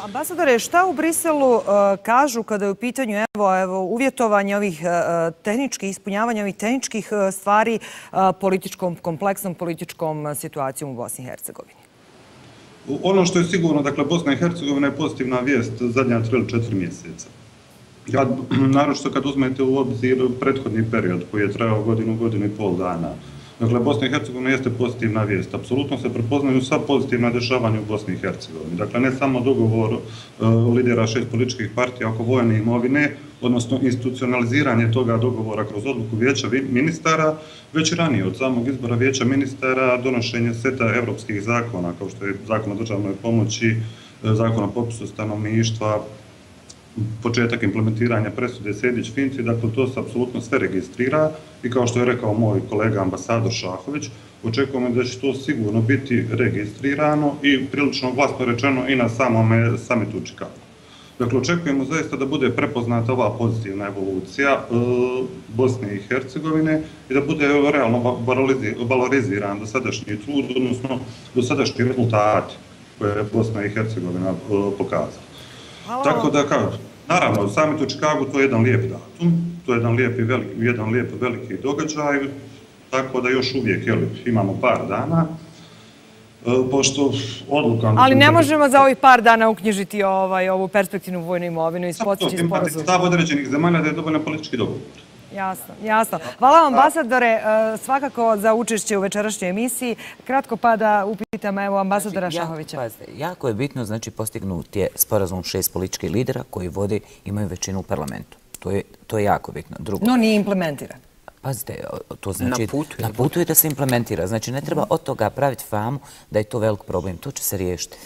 S1: Ambasadore, šta u Briselu uh, kažu kada je u pitanju evo, evo, uvjetovanje ovih uh, tehničkih, ispunjavanja ovih tehničkih uh, stvari uh, političkom, kompleksnom političkom situacijom u Bosni i Hercegovini?
S2: Ono što je sigurno, dakle, Bosna i Hercegovina je pozitivna vijest zadnja tri ili četiri mjeseca. Ja, naročito kad uzmete u obzir prethodni period koji je trajao godinu, godinu i pol dana. Dakle, Bosna i Hercegovina jeste pozitivna vijest. Apsolutno se prepoznaju sva pozitivna dešavanja u Bosni i Hercegovini. Dakle, ne samo dogovor uh, lidera šest političkih partija oko vojne imovine, odnosno institucionaliziranje toga dogovora kroz odluku vijeća ministara, već i ranije od samog izbora vijeća ministara donošenje seta evropskih zakona, kao što je zakon o državnoj pomoći, zakon o popisu stanovništva, početak implementiranja presude Sejdić-Finci, dakle to se apsolutno sve registrira i kao što je rekao moj kolega ambasador Šahović, očekujemo da će to sigurno biti registrirano i prilično glasno rečeno i na samome samitu u Čikagu. Dakle, očekujemo zaista da bude prepoznata ova pozitivna evolucija Bosne i Hercegovine i da bude realno valoriziran dosadašnji trud, odnosno dosadašnji rezultati koje je Bosna i Hercegovina pokazala. Tako da, kao, naravno, samit u Čikagu to je jedan lijep datum, to je jedan lijep, jedan lijep veliki događaj, tako da još uvijek jel, imamo par dana, pošto odluka...
S1: Ali ne možemo za ovih par dana uknjižiti ovaj, ovu perspektivnu vojnu imovinu i postići sporazum.
S2: Stav određenih zemalja da je dovoljno politički dogovor.
S1: Jasno, jasno. Hvala vam, ambasadore, svakako za učešće u večerašnjoj emisiji. Kratko pa da upitam evo ambasadora Šahovića.
S18: Jako je bitno, znači, postignuti je sporazum šest političkih lidera koji vode, imaju većinu u parlamentu. To je jako bitno.
S1: No nije implementiran.
S18: Pazite, to znači na putu je da se implementira. Znači, ne treba od toga praviti famu da je to velik problem. To će se riješiti.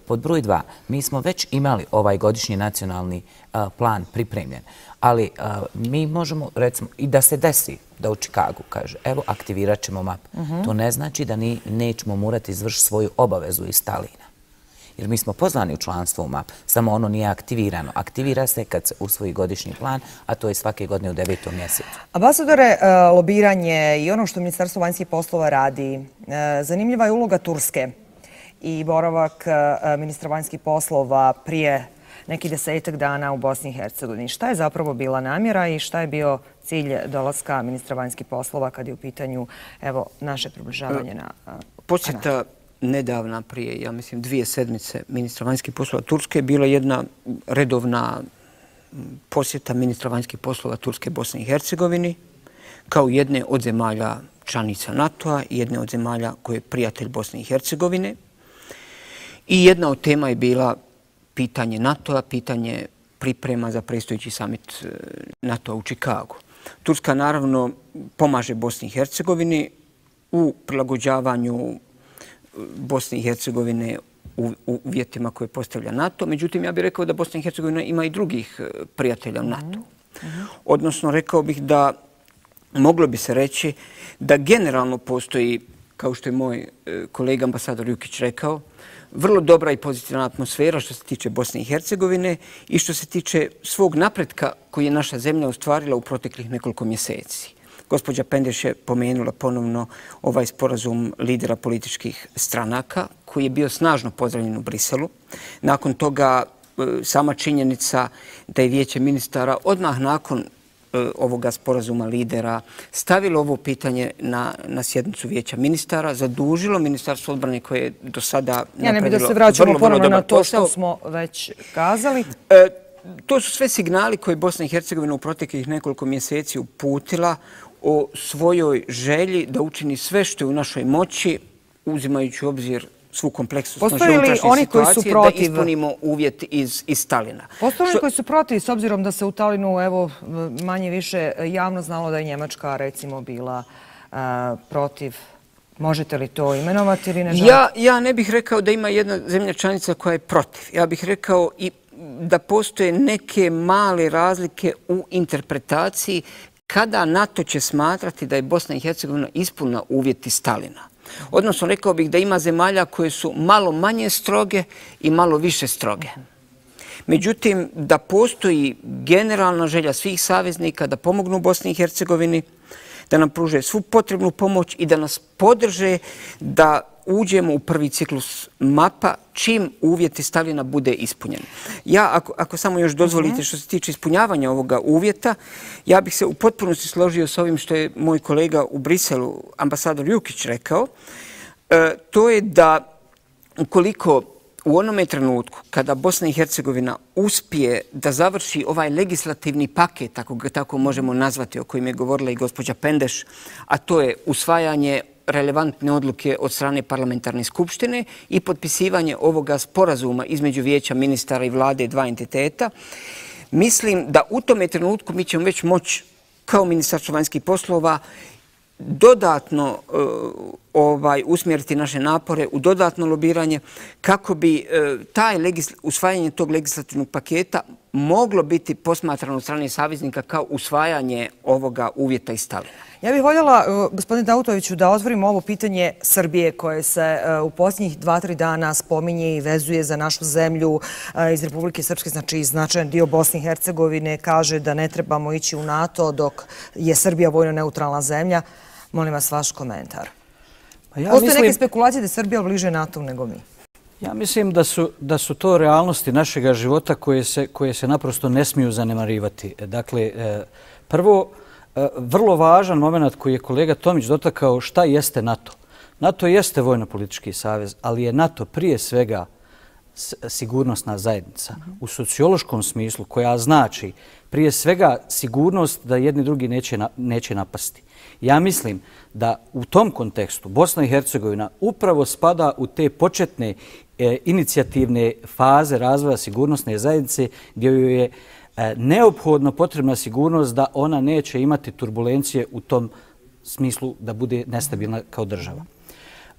S18: Pod broj dva, mi smo već imali ovaj godišnji nacionalni plan pripremljen, ali mi možemo, recimo, i da se desi da u Čikagu kaže, evo, aktivirat ćemo map. To ne znači da nećemo morati izvršiti svoju obavezu iz Stalina. Jer mi smo pozvani u članstvo u map, samo ono nije aktivirano. Aktivira se kad se usvoji godišnji plan, a to je svake godine u devetom mjesecu.
S1: Ambasadore, lobiranje i ono što Ministarstvo vanjskih poslova radi, zanimljiva je uloga Turske i boravak ministra vanjskih poslova prije neki desetak dana u Bosni i Hercegovini. Šta je zapravo bila namjera i šta je bio cilj dolaska ministra vanjskih poslova kad je u pitanju evo, naše približavanje na...
S17: Posjeta nedavna prije, ja mislim, dvije sedmice ministra vanjskih poslova Turske bila jedna redovna posjeta ministra vanjskih poslova Turske Bosni i Hercegovini kao jedne od zemalja članica NATO-a i jedne od zemalja koje je prijatelj Bosne i Hercegovine. I jedna od tema je bila pitanje NATO-a, pitanje priprema za predstojeći samit NATO-a u Čikagu. Turska naravno pomaže Bosni i Hercegovini u prilagođavanju Bosne i Hercegovine u uvjetima koje postavlja NATO. Međutim, ja bih rekao da Bosna i Hercegovina ima i drugih prijatelja u NATO. Odnosno, rekao bih da moglo bi se reći da generalno postoji, kao što je moj kolega ambasador Jukić rekao, vrlo dobra i pozitivna atmosfera što se tiče Bosne i Hercegovine i što se tiče svog napretka koji je naša zemlja ostvarila u proteklih nekoliko mjeseci. Gospođa Pendeš je pomenula ponovno ovaj sporazum lidera političkih stranaka koji je bio snažno pozdravljen u Briselu. Nakon toga sama činjenica da je vijeće ministara odmah nakon ovoga sporazuma lidera stavilo ovo pitanje na, na sjednicu vijeća ministara, zadužilo Ministarstvo odbrane koje je do sada napravilo
S1: Ja ne bih da se vraćamo ponovno na to što smo već kazali.
S17: E, to su sve signali koje Bosna i Hercegovina u proteklih nekoliko mjeseci uputila o svojoj želji da učini sve što je u našoj moći, uzimajući u obzir svu kompleksnost naše unutrašnje situacije, da ispunimo uvjet iz, iz Stalina.
S1: Postoje oni koji su protiv, s obzirom da se u Talinu evo, manje više javno znalo da je Njemačka recimo bila uh, protiv. Možete li to imenovati ili ne želite?
S17: Ja, ja ne bih rekao da ima jedna zemlja članica koja je protiv. Ja bih rekao i da postoje neke male razlike u interpretaciji kada NATO će smatrati da je Bosna i Hercegovina ispunila uvjeti Stalina. Odnosno, rekao bih da ima zemalja koje su malo manje stroge i malo više stroge. Međutim, da postoji generalna želja svih saveznika da pomognu Bosni i Hercegovini, da nam pruže svu potrebnu pomoć i da nas podrže da uđemo u prvi ciklus mapa čim uvjeti Stalina bude ispunjeni. Ja, ako, ako samo još dozvolite što se tiče ispunjavanja ovoga uvjeta, ja bih se u potpunosti složio s ovim što je moj kolega u Briselu, ambasador Jukić, rekao. E, to je da ukoliko u onome trenutku kada Bosna i Hercegovina uspije da završi ovaj legislativni paket, ako ga tako možemo nazvati, o kojem je govorila i gospođa Pendeš, a to je usvajanje relevantne odluke od strane parlamentarne skupštine i potpisivanje ovoga sporazuma između vijeća ministara i vlade dva entiteta, mislim da u tome trenutku mi ćemo već moći kao Ministarstvo vanjskih poslova dodatno uh, ovaj, usmjeriti naše napore u dodatno lobiranje kako bi uh, taj legis, usvajanje tog legislativnog paketa moglo biti posmatrano od strane saveznika kao usvajanje ovoga uvjeta iz Stalina.
S1: Ja bih voljela, uh, gospodine Dautoviću, da otvorimo ovo pitanje Srbije koje se uh, u posljednjih dva, tri dana spominje i vezuje za našu zemlju uh, iz Republike Srpske, znači značajan dio Bosne i Hercegovine kaže da ne trebamo ići u NATO dok je Srbija vojno neutralna zemlja. Molim vas vaš komentar. Pa ja Postoje mislim, neke spekulacije da je Srbija bliže NATO nego mi.
S20: Ja mislim da su, da su to realnosti našega života koje se, koje se naprosto ne smiju zanemarivati. Dakle, prvo, vrlo važan moment koji je kolega Tomić dotakao, šta jeste NATO. NATO jeste vojno-politički savez, ali je NATO prije svega sigurnosna zajednica. U sociološkom smislu koja znači prije svega sigurnost da jedni drugi neće, na, neće napasti. Ja mislim da u tom kontekstu Bosna i Hercegovina upravo spada u te početne e, inicijativne faze razvoja sigurnosne zajednice gdje joj je e, neophodno potrebna sigurnost da ona neće imati turbulencije u tom smislu da bude nestabilna kao država.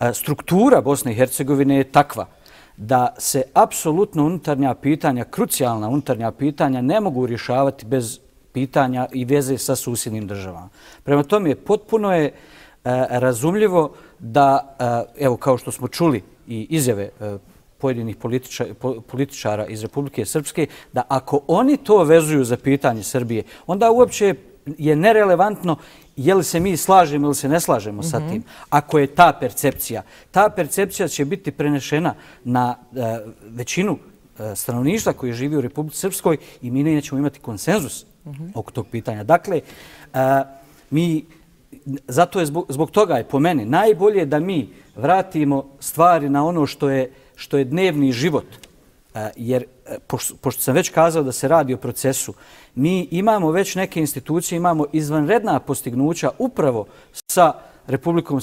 S20: E, struktura Bosne i Hercegovine je takva da se apsolutno unutarnja pitanja, krucijalna unutarnja pitanja ne mogu rješavati bez pitanja i veze sa susjednim državama. Prema tome, potpuno je e, razumljivo da, e, evo kao što smo čuli i izjave e, pojedinih političa, po, političara iz Republike Srpske, da ako oni to vezuju za pitanje Srbije, onda uopće je nerelevantno je li se mi slažemo ili se ne slažemo sa tim. Ako je ta percepcija, ta percepcija će biti prenešena na e, većinu e, stanovništva koji živi u Republici Srpskoj i mi nećemo imati konsenzus oko tog pitanja. Dakle, a, mi, zato je zbog, zbog toga je po meni najbolje da mi vratimo stvari na ono što je, što je dnevni život. A, jer, pošto, pošto sam već kazao da se radi o procesu, mi imamo već neke institucije, imamo izvanredna postignuća upravo sa Republikom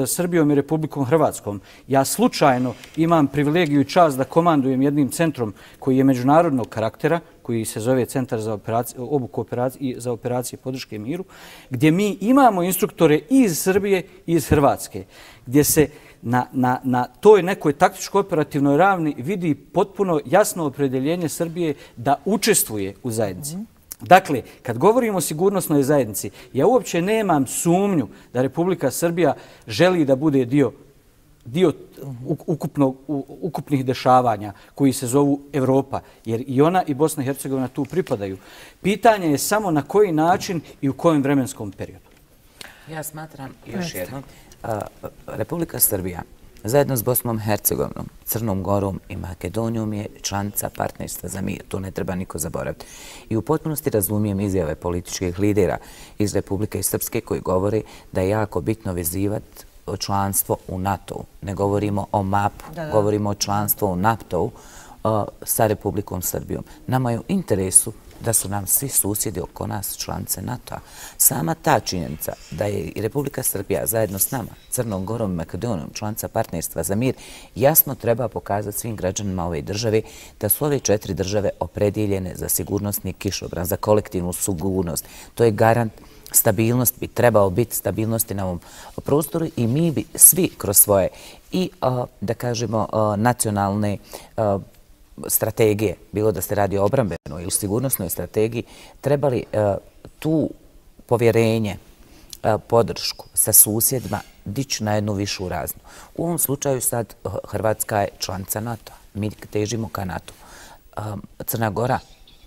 S20: Srbijom i Republikom Hrvatskom. Ja slučajno imam privilegiju i čast da komandujem jednim centrom koji je međunarodnog karaktera, koji se zove Centar za obuku operacije, za operacije podrške miru, gdje mi imamo instruktore iz Srbije i iz Hrvatske, gdje se na, na, na toj nekoj taktičko-operativnoj ravni vidi potpuno jasno opredjeljenje Srbije da učestvuje u zajednici. Dakle, kad govorimo o sigurnosnoj zajednici, ja uopće nemam sumnju da Republika Srbija želi da bude dio, dio ukupno, ukupnih dešavanja koji se zovu Evropa, jer i ona i Bosna i Hercegovina tu pripadaju. Pitanje je samo na koji način i u kojem vremenskom periodu.
S18: Ja smatram još jednom, Republika Srbija zajedno s Bosnom i Hercegovinom, Crnom Gorom i Makedonijom je članica partnerstva za mir. To ne treba niko zaboraviti. I u potpunosti razumijem izjave političkih lidera iz Republike Srpske koji govore da je jako bitno vezivati članstvo u NATO-u. Ne govorimo o mapu, da, da. govorimo o članstvu u NATO-u uh, sa Republikom Srbijom. Nama je u interesu da su nam svi susjedi oko nas članice NATO-a. Sama ta činjenica da je i Republika Srbija zajedno s nama, Crnom Gorom i Makedonijom, članica partnerstva za mir, jasno treba pokazati svim građanima ove države da su ove četiri države opredjeljene za sigurnosni kišobran, za kolektivnu sigurnost. To je garant stabilnost, bi trebao biti stabilnosti na ovom prostoru i mi bi svi kroz svoje i, da kažemo, nacionalne strategije, bilo da se radi o obrambenoj ili sigurnosnoj strategiji, trebali uh, tu povjerenje, uh, podršku sa susjedima dići na jednu višu razinu. U ovom slučaju sad uh, Hrvatska je članica NATO. Mi težimo ka NATO. Um, Crna Gora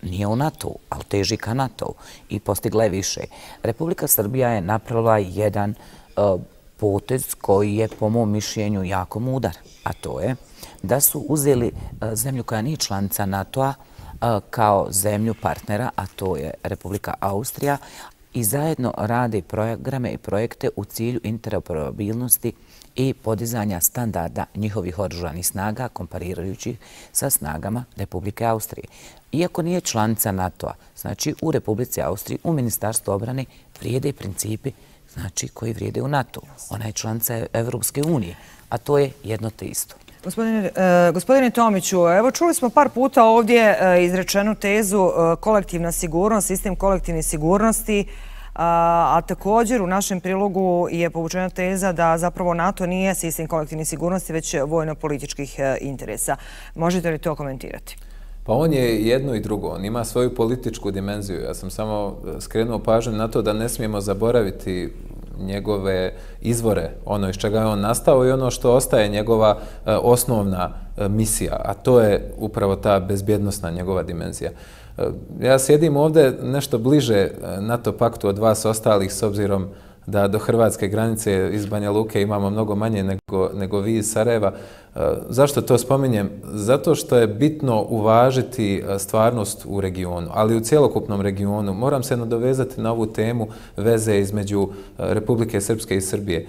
S18: nije u NATO-u, ali teži ka NATO-u i postigla je više. Republika Srbija je napravila jedan uh, potez koji je po mom mišljenju jako mudar, a to je da su uzeli zemlju koja nije članica NATO-a kao zemlju partnera, a to je Republika Austrija, i zajedno rade programe i projekte u cilju interoperabilnosti i podizanja standarda njihovih oružanih snaga komparirajući sa snagama Republike Austrije. Iako nije članica NATO-a, znači u Republici Austriji, u Ministarstvu obrane vrijede principi znači koji vrijede u NATO-u. Ona je članica Evropske unije, a to je jedno te isto.
S1: Gospodine, e, gospodine Tomiću, evo čuli smo par puta ovdje e, izrečenu tezu e, kolektivna sigurnost, sistem kolektivne sigurnosti, a, a također u našem prilogu je povučena teza da zapravo NATO nije sistem kolektivne sigurnosti, već vojno-političkih e, interesa. Možete li to komentirati?
S21: Pa on je jedno i drugo, on ima svoju političku dimenziju. Ja sam samo skrenuo pažnju na to da ne smijemo zaboraviti njegove izvore, ono iz čega je on nastao i ono što ostaje njegova e, osnovna e, misija, a to je upravo ta bezbjednosna njegova dimenzija. E, ja sjedim ovdje nešto bliže NATO paktu od vas ostalih, s obzirom da do hrvatske granice iz Banja Luke imamo mnogo manje nego, nego vi iz Sarajeva. E, zašto to spominjem? Zato što je bitno uvažiti stvarnost u regionu, ali u cjelokupnom regionu. Moram se nadovezati na ovu temu veze između Republike Srpske i Srbije.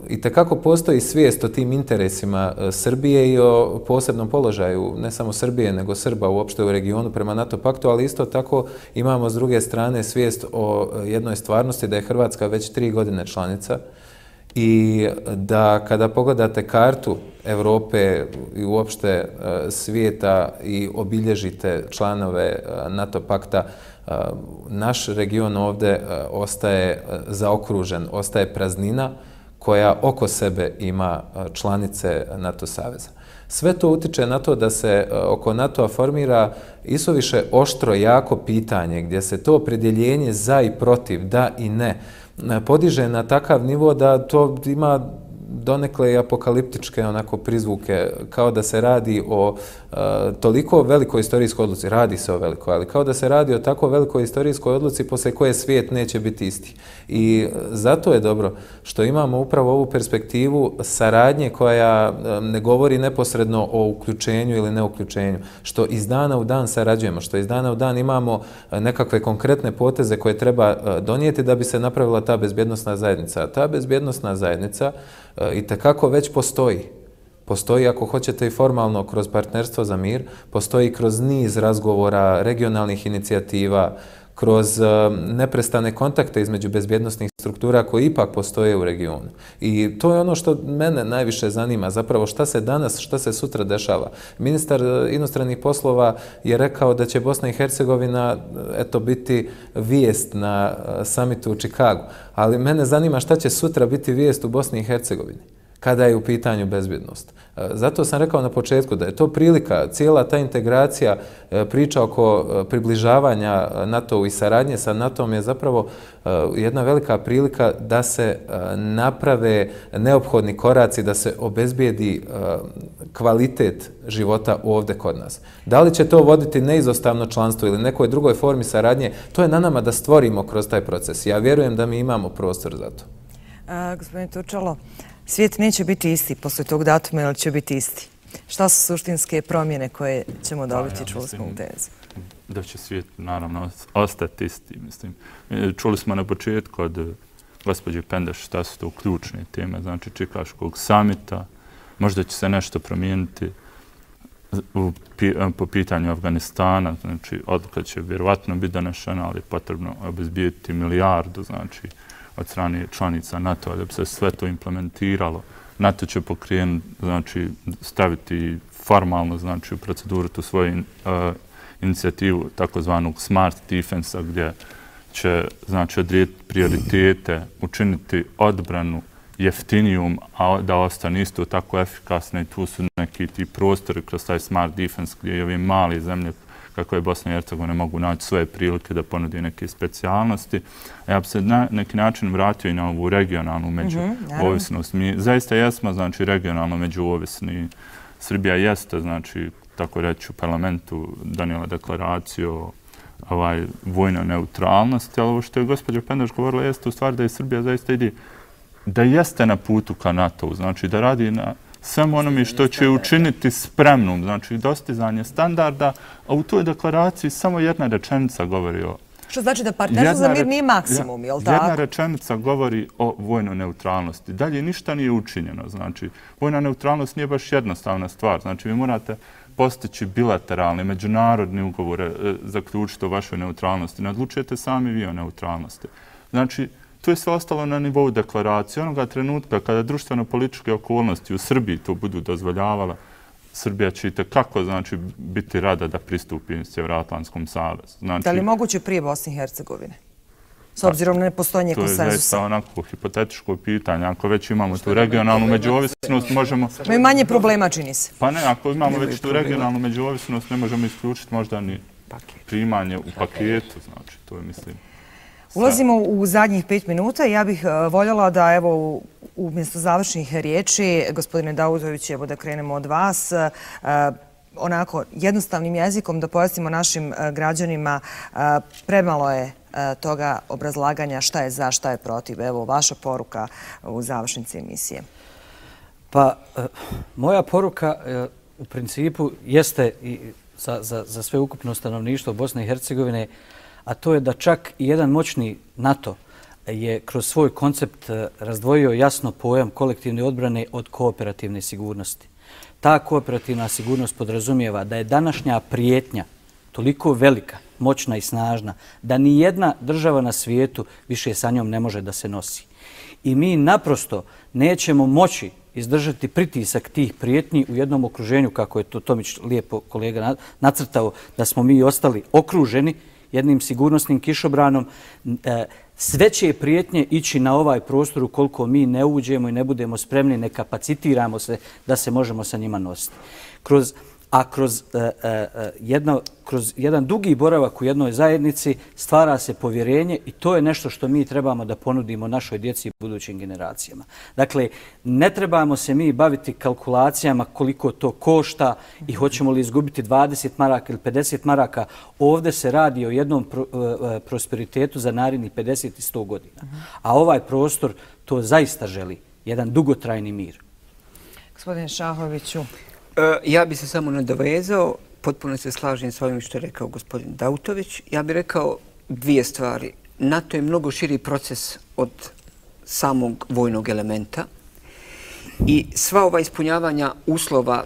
S21: I tekako postoji svijest o tim interesima Srbije i o posebnom položaju, ne samo Srbije, nego Srba uopšte u regionu prema NATO paktu, ali isto tako imamo s druge strane svijest o jednoj stvarnosti da je Hrvatska već tri godine članica i da kada pogledate kartu Evrope i uopšte svijeta i obilježite članove NATO pakta, naš region ovdje ostaje zaokružen, ostaje praznina koja oko sebe ima članice NATO saveza. Sve to utiče na to da se oko NATO-a formira isuviše oštro, jako pitanje gdje se to opredjeljenje za i protiv, da i ne, podiže na takav nivo da to ima donekle i apokaliptičke onako prizvuke, kao da se radi o e, toliko velikoj istorijskoj odluci, radi se o velikoj, ali kao da se radi o tako velikoj istorijskoj odluci poslije koje svijet neće biti isti. I zato je dobro što imamo upravo ovu perspektivu saradnje koja ne govori neposredno o uključenju ili neuključenju, što iz dana u dan sarađujemo, što iz dana u dan imamo nekakve konkretne poteze koje treba donijeti da bi se napravila ta bezbjednosna zajednica. Ta bezbjednosna zajednica i tekako već postoji. Postoji, ako hoćete, i formalno kroz partnerstvo za mir, postoji kroz niz razgovora, regionalnih inicijativa, kroz neprestane kontakte između bezbjednosnih struktura koji ipak postoje u regionu. I to je ono što mene najviše zanima, zapravo šta se danas, šta se sutra dešava. Ministar inostranih poslova je rekao da će Bosna i Hercegovina eto biti vijest na samitu u Čikagu, ali mene zanima šta će sutra biti vijest u Bosni i Hercegovini kada je u pitanju bezbjednost. Zato sam rekao na početku da je to prilika, cijela ta integracija, priča oko približavanja NATO-u i saradnje sa NATO-om je zapravo jedna velika prilika da se naprave neophodni koraci, da se obezbijedi kvalitet života ovdje kod nas. Da li će to voditi neizostavno članstvo ili nekoj drugoj formi saradnje, to je na nama da stvorimo kroz taj proces. Ja vjerujem da mi imamo prostor za to.
S1: A, gospodine Turčalo, svijet neće biti isti posle tog datuma, ili će biti isti? Šta su suštinske promjene koje ćemo dobiti, čuli smo u tezi?
S19: Da će svijet, naravno, ostati isti. Mislim. Čuli smo na početku od gospođe Pendeš šta su to ključne teme, znači Čikaškog samita, možda će se nešto promijeniti u, po pitanju Afganistana, znači odluka će vjerovatno biti donešena, ali je potrebno obezbijeti milijardu, znači od strane članica NATO-a da bi se sve to implementiralo. NATO će pokrenuti, znači staviti formalno, znači u proceduru tu svoju uh, inicijativu takozvanog smart defensa gdje će, znači, odrediti prioritete, učiniti odbranu jeftinijum, a da ostane isto tako efikasne. I tu su neki ti prostori kroz taj smart defense gdje i ove male zemlje kako je Bosna i Hercegovina mogu naći svoje prilike da ponudi neke specijalnosti. A ja bi se na neki način vratio i na ovu regionalnu međuovisnost. Mi zaista jesmo, znači, regionalno međuovisni. Srbija jeste, znači, tako reći, u parlamentu donijela deklaraciju o ovaj, vojnoj neutralnosti, ali ovo što je gospođa Pendeš govorila jeste u stvari da je Srbija zaista ide, da jeste na putu ka NATO-u, znači da radi na samo onome što će učiniti spremnom, znači dostizanje standarda, a u toj deklaraciji samo jedna rečenica govori o...
S1: Što znači da partnerstvo za mir nije maksimum, je li tako?
S19: Jedna rečenica govori o vojnoj neutralnosti. Dalje ništa nije učinjeno, znači vojna neutralnost nije baš jednostavna stvar, znači vi morate postići bilateralne, međunarodne ugovore, zaključiti o vašoj neutralnosti, ne odlučujete sami vi o neutralnosti. Znači, to je sve ostalo na nivou deklaracije. Onoga trenutka kada društveno-političke okolnosti u Srbiji to budu dozvoljavala, Srbija će i tekako znači, biti rada da pristupi Sjevernoatlantskom savezu. Znači,
S1: da li je moguće prije Bosne i Hercegovine? S obzirom na nepostojanje konsenzusa.
S19: To je zaista onako hipotetičko pitanje. Ako već imamo tu regionalnu međuovisnost, možemo...
S1: Imaju manje problema, čini se.
S19: Pa ne, ako imamo već tu regionalnu međuovisnost, ne možemo isključiti možda ni primanje u paketu. Znači, to je, mislim...
S1: Ulazimo u zadnjih pet minuta i ja bih voljela da, evo, umjesto završnih riječi, gospodine Dautović, evo da krenemo od vas, onako jednostavnim jezikom da pojasnimo našim građanima, premalo je toga obrazlaganja šta je za, šta je protiv. Evo, vaša poruka u završnici emisije.
S20: Pa, moja poruka u principu jeste i za, za, za sve ukupno stanovništvo Bosne i Hercegovine, a to je da čak i jedan moćni NATO je kroz svoj koncept razdvojio jasno pojam kolektivne odbrane od kooperativne sigurnosti. Ta kooperativna sigurnost podrazumijeva da je današnja prijetnja toliko velika, moćna i snažna, da ni jedna država na svijetu više sa njom ne može da se nosi. I mi naprosto nećemo moći izdržati pritisak tih prijetnji u jednom okruženju, kako je to Tomić lijepo kolega nacrtao, da smo mi ostali okruženi jednim sigurnosnim kišobranom. Sve će prijetnje ići na ovaj prostor ukoliko mi ne uđemo i ne budemo spremni, ne kapacitiramo se da se možemo sa njima nositi. Kroz A kroz, uh, uh, jedno, kroz jedan dugi boravak u jednoj zajednici stvara se povjerenje i to je nešto što mi trebamo da ponudimo našoj djeci i budućim generacijama. Dakle, ne trebamo se mi baviti kalkulacijama koliko to košta i hoćemo li izgubiti dvadeset maraka ili pedeset maraka. Ovdje se radi o jednom pro, uh, prosperitetu za narednih pedeset i sto godina. A ovaj prostor to zaista želi, jedan dugotrajni mir.
S1: Gospodine Šahoviću.
S17: Ja bi se samo nadovezao, potpuno se slažem s ovim što je rekao gospodin Dautović. Ja bih rekao dvije stvari. NATO je mnogo širi proces od samog vojnog elementa i sva ova ispunjavanja uslova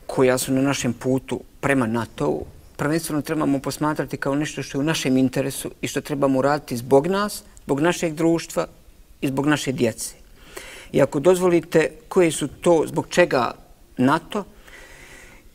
S17: koja su na našem putu prema NATO-u prvenstveno trebamo posmatrati kao nešto što je u našem interesu i što trebamo uraditi zbog nas, zbog našeg društva i zbog naše djece. I ako dozvolite koje su to, zbog čega NATO,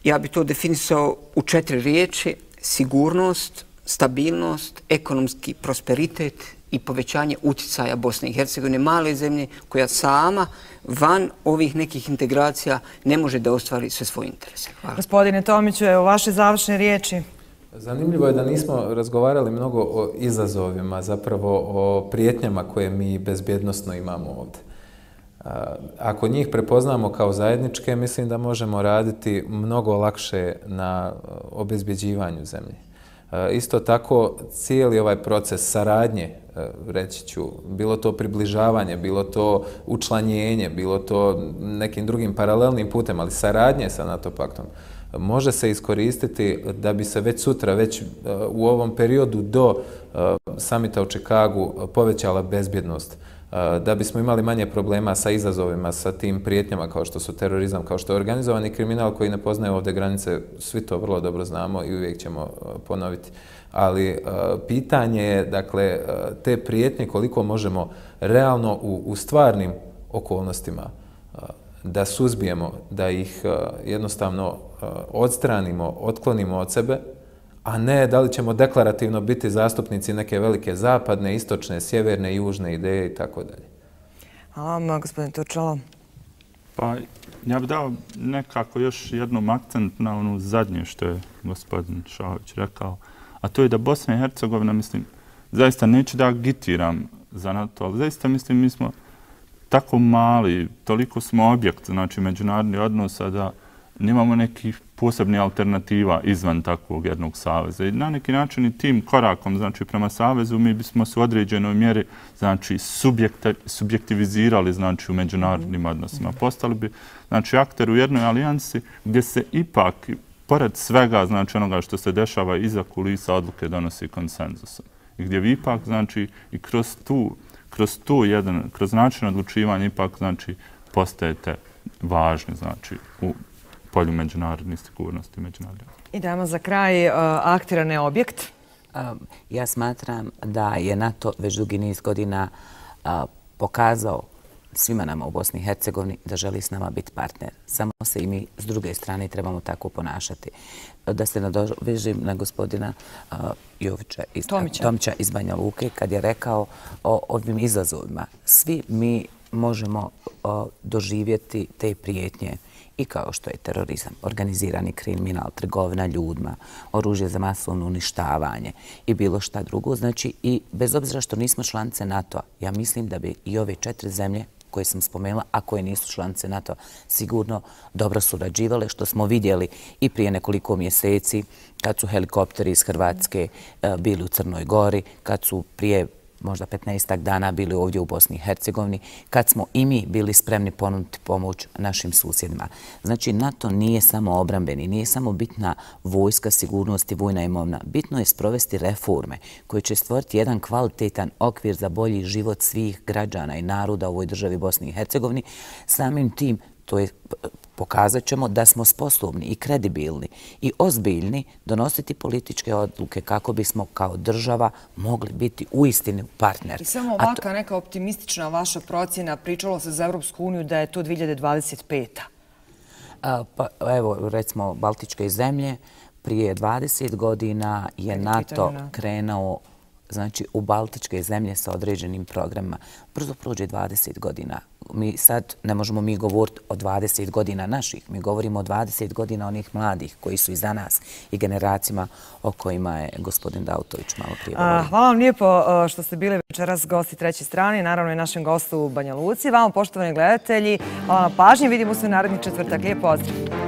S17: ja bi to definisao u četiri riječi: sigurnost, stabilnost, ekonomski prosperitet i povećanje utjecaja Bosne i Hercegovine, male zemlje koja sama van ovih nekih integracija ne može da ostvari sve svoje interese. Hvala.
S1: Gospodine Tomiću, evo vaše završne riječi.
S21: Zanimljivo je da nismo razgovarali mnogo o izazovima, zapravo o prijetnjama koje mi bezbjednostno imamo ovdje. Ako njih prepoznamo kao zajedničke, mislim da možemo raditi mnogo lakše na obezbjeđivanju zemlje. Isto tako, cijeli ovaj proces saradnje, reći ću, bilo to približavanje, bilo to učlanjenje, bilo to nekim drugim paralelnim putem, ali saradnje sa NATO paktom, može se iskoristiti da bi se već sutra, već u ovom periodu do samita u Čikagu povećala bezbjednost, da bismo imali manje problema sa izazovima, sa tim prijetnjama kao što su terorizam, kao što je organizovani kriminal koji ne poznaje ovdje granice, svi to vrlo dobro znamo i uvijek ćemo ponoviti. Ali pitanje je, dakle, te prijetnje koliko možemo realno u, u stvarnim okolnostima da suzbijemo, da ih jednostavno odstranimo, otklonimo od sebe, a ne da li ćemo deklarativno biti zastupnici neke velike zapadne, istočne, sjeverne, južne ideje i tako dalje.
S1: Hvala vam, gospodin Turčalo.
S19: Pa ja bih dao nekako još jednom akcent na onu zadnje što je gospodin Šahović rekao, a to je da Bosna i Hercegovina, mislim, zaista neću da agitiram za NATO, ali zaista mislim mi smo tako mali, toliko smo objekt, znači međunarodnih odnosa, da nemamo nekih posebnih alternativa izvan takvog jednog saveza. I na neki način i tim korakom, znači prema savezu, mi bismo se u određenoj mjeri, znači, subjektivizirali, znači, u međunarodnim odnosima. Postali bi, znači, akter u jednoj alijansi gdje se ipak, pored svega, znači, onoga što se dešava iza kulisa, odluke donosi konsenzusom. I gdje vi ipak, znači, i kroz tu, kroz tu jedan, kroz način odlučivanja ipak, znači, postajete važni, znači, u polju međunarodne sigurnosti.
S1: I dajmo za kraj, aktiran je objekt.
S18: Ja smatram da je NATO već dugi niz godina pokazao svima nama u Bosni i Hercegovini da želi s nama biti partner. Samo se i mi s druge strane trebamo tako ponašati. Da se nadovežim na gospodina Jovića iz Tomića iz Banja Luke kad je rekao o ovim izazovima. Svi mi možemo doživjeti te prijetnje i kao što je terorizam, organizirani kriminal, trgovina ljudima, oružje za masovno uništavanje i bilo šta drugo. Znači, i bez obzira što nismo članice NATO-a, ja mislim da bi i ove četiri zemlje koje sam spomenula, a koje nisu članice NATO-a, sigurno dobro surađivale, što smo vidjeli i prije nekoliko mjeseci kad su helikopteri iz Hrvatske bili u Crnoj Gori, kad su prije možda petnaestak dana bili ovdje u Bosni i Hercegovini, kad smo i mi bili spremni ponuditi pomoć našim susjedima. Znači, NATO nije samo obrambeni, nije samo bitna vojska, sigurnost i vojna imovina. Bitno je sprovesti reforme koje će stvoriti jedan kvalitetan okvir za bolji život svih građana i naroda u ovoj državi Bosni i Hercegovini. Samim tim, to je pokazat ćemo da smo sposobni i kredibilni i ozbiljni donositi političke odluke kako bismo kao država mogli biti uistinu partner.
S1: I samo ovaka neka optimistična vaša procjena, pričalo se za Evropsku uniju da je to dvije hiljade dvadeset peta.
S18: Pa evo, recimo, Baltičke zemlje, prije dvadeset godina je NATO krenuo znači u Baltičke zemlje sa određenim programima. Brzo prođe dvadeset godina. Mi sad ne možemo mi govoriti o dvadeset godina naših, mi govorimo o dvadeset godina onih mladih koji su iza nas i generacijama o kojima je gospodin Dautović malo prije govorio.
S1: Hvala vam lijepo što ste bili večeras gosti treće strane, naravno i našem gostu u Banja Luci. Vama, poštovani gledatelji, hvala na pažnji, vidimo se u naredni četvrtak. Lijep pozdrav!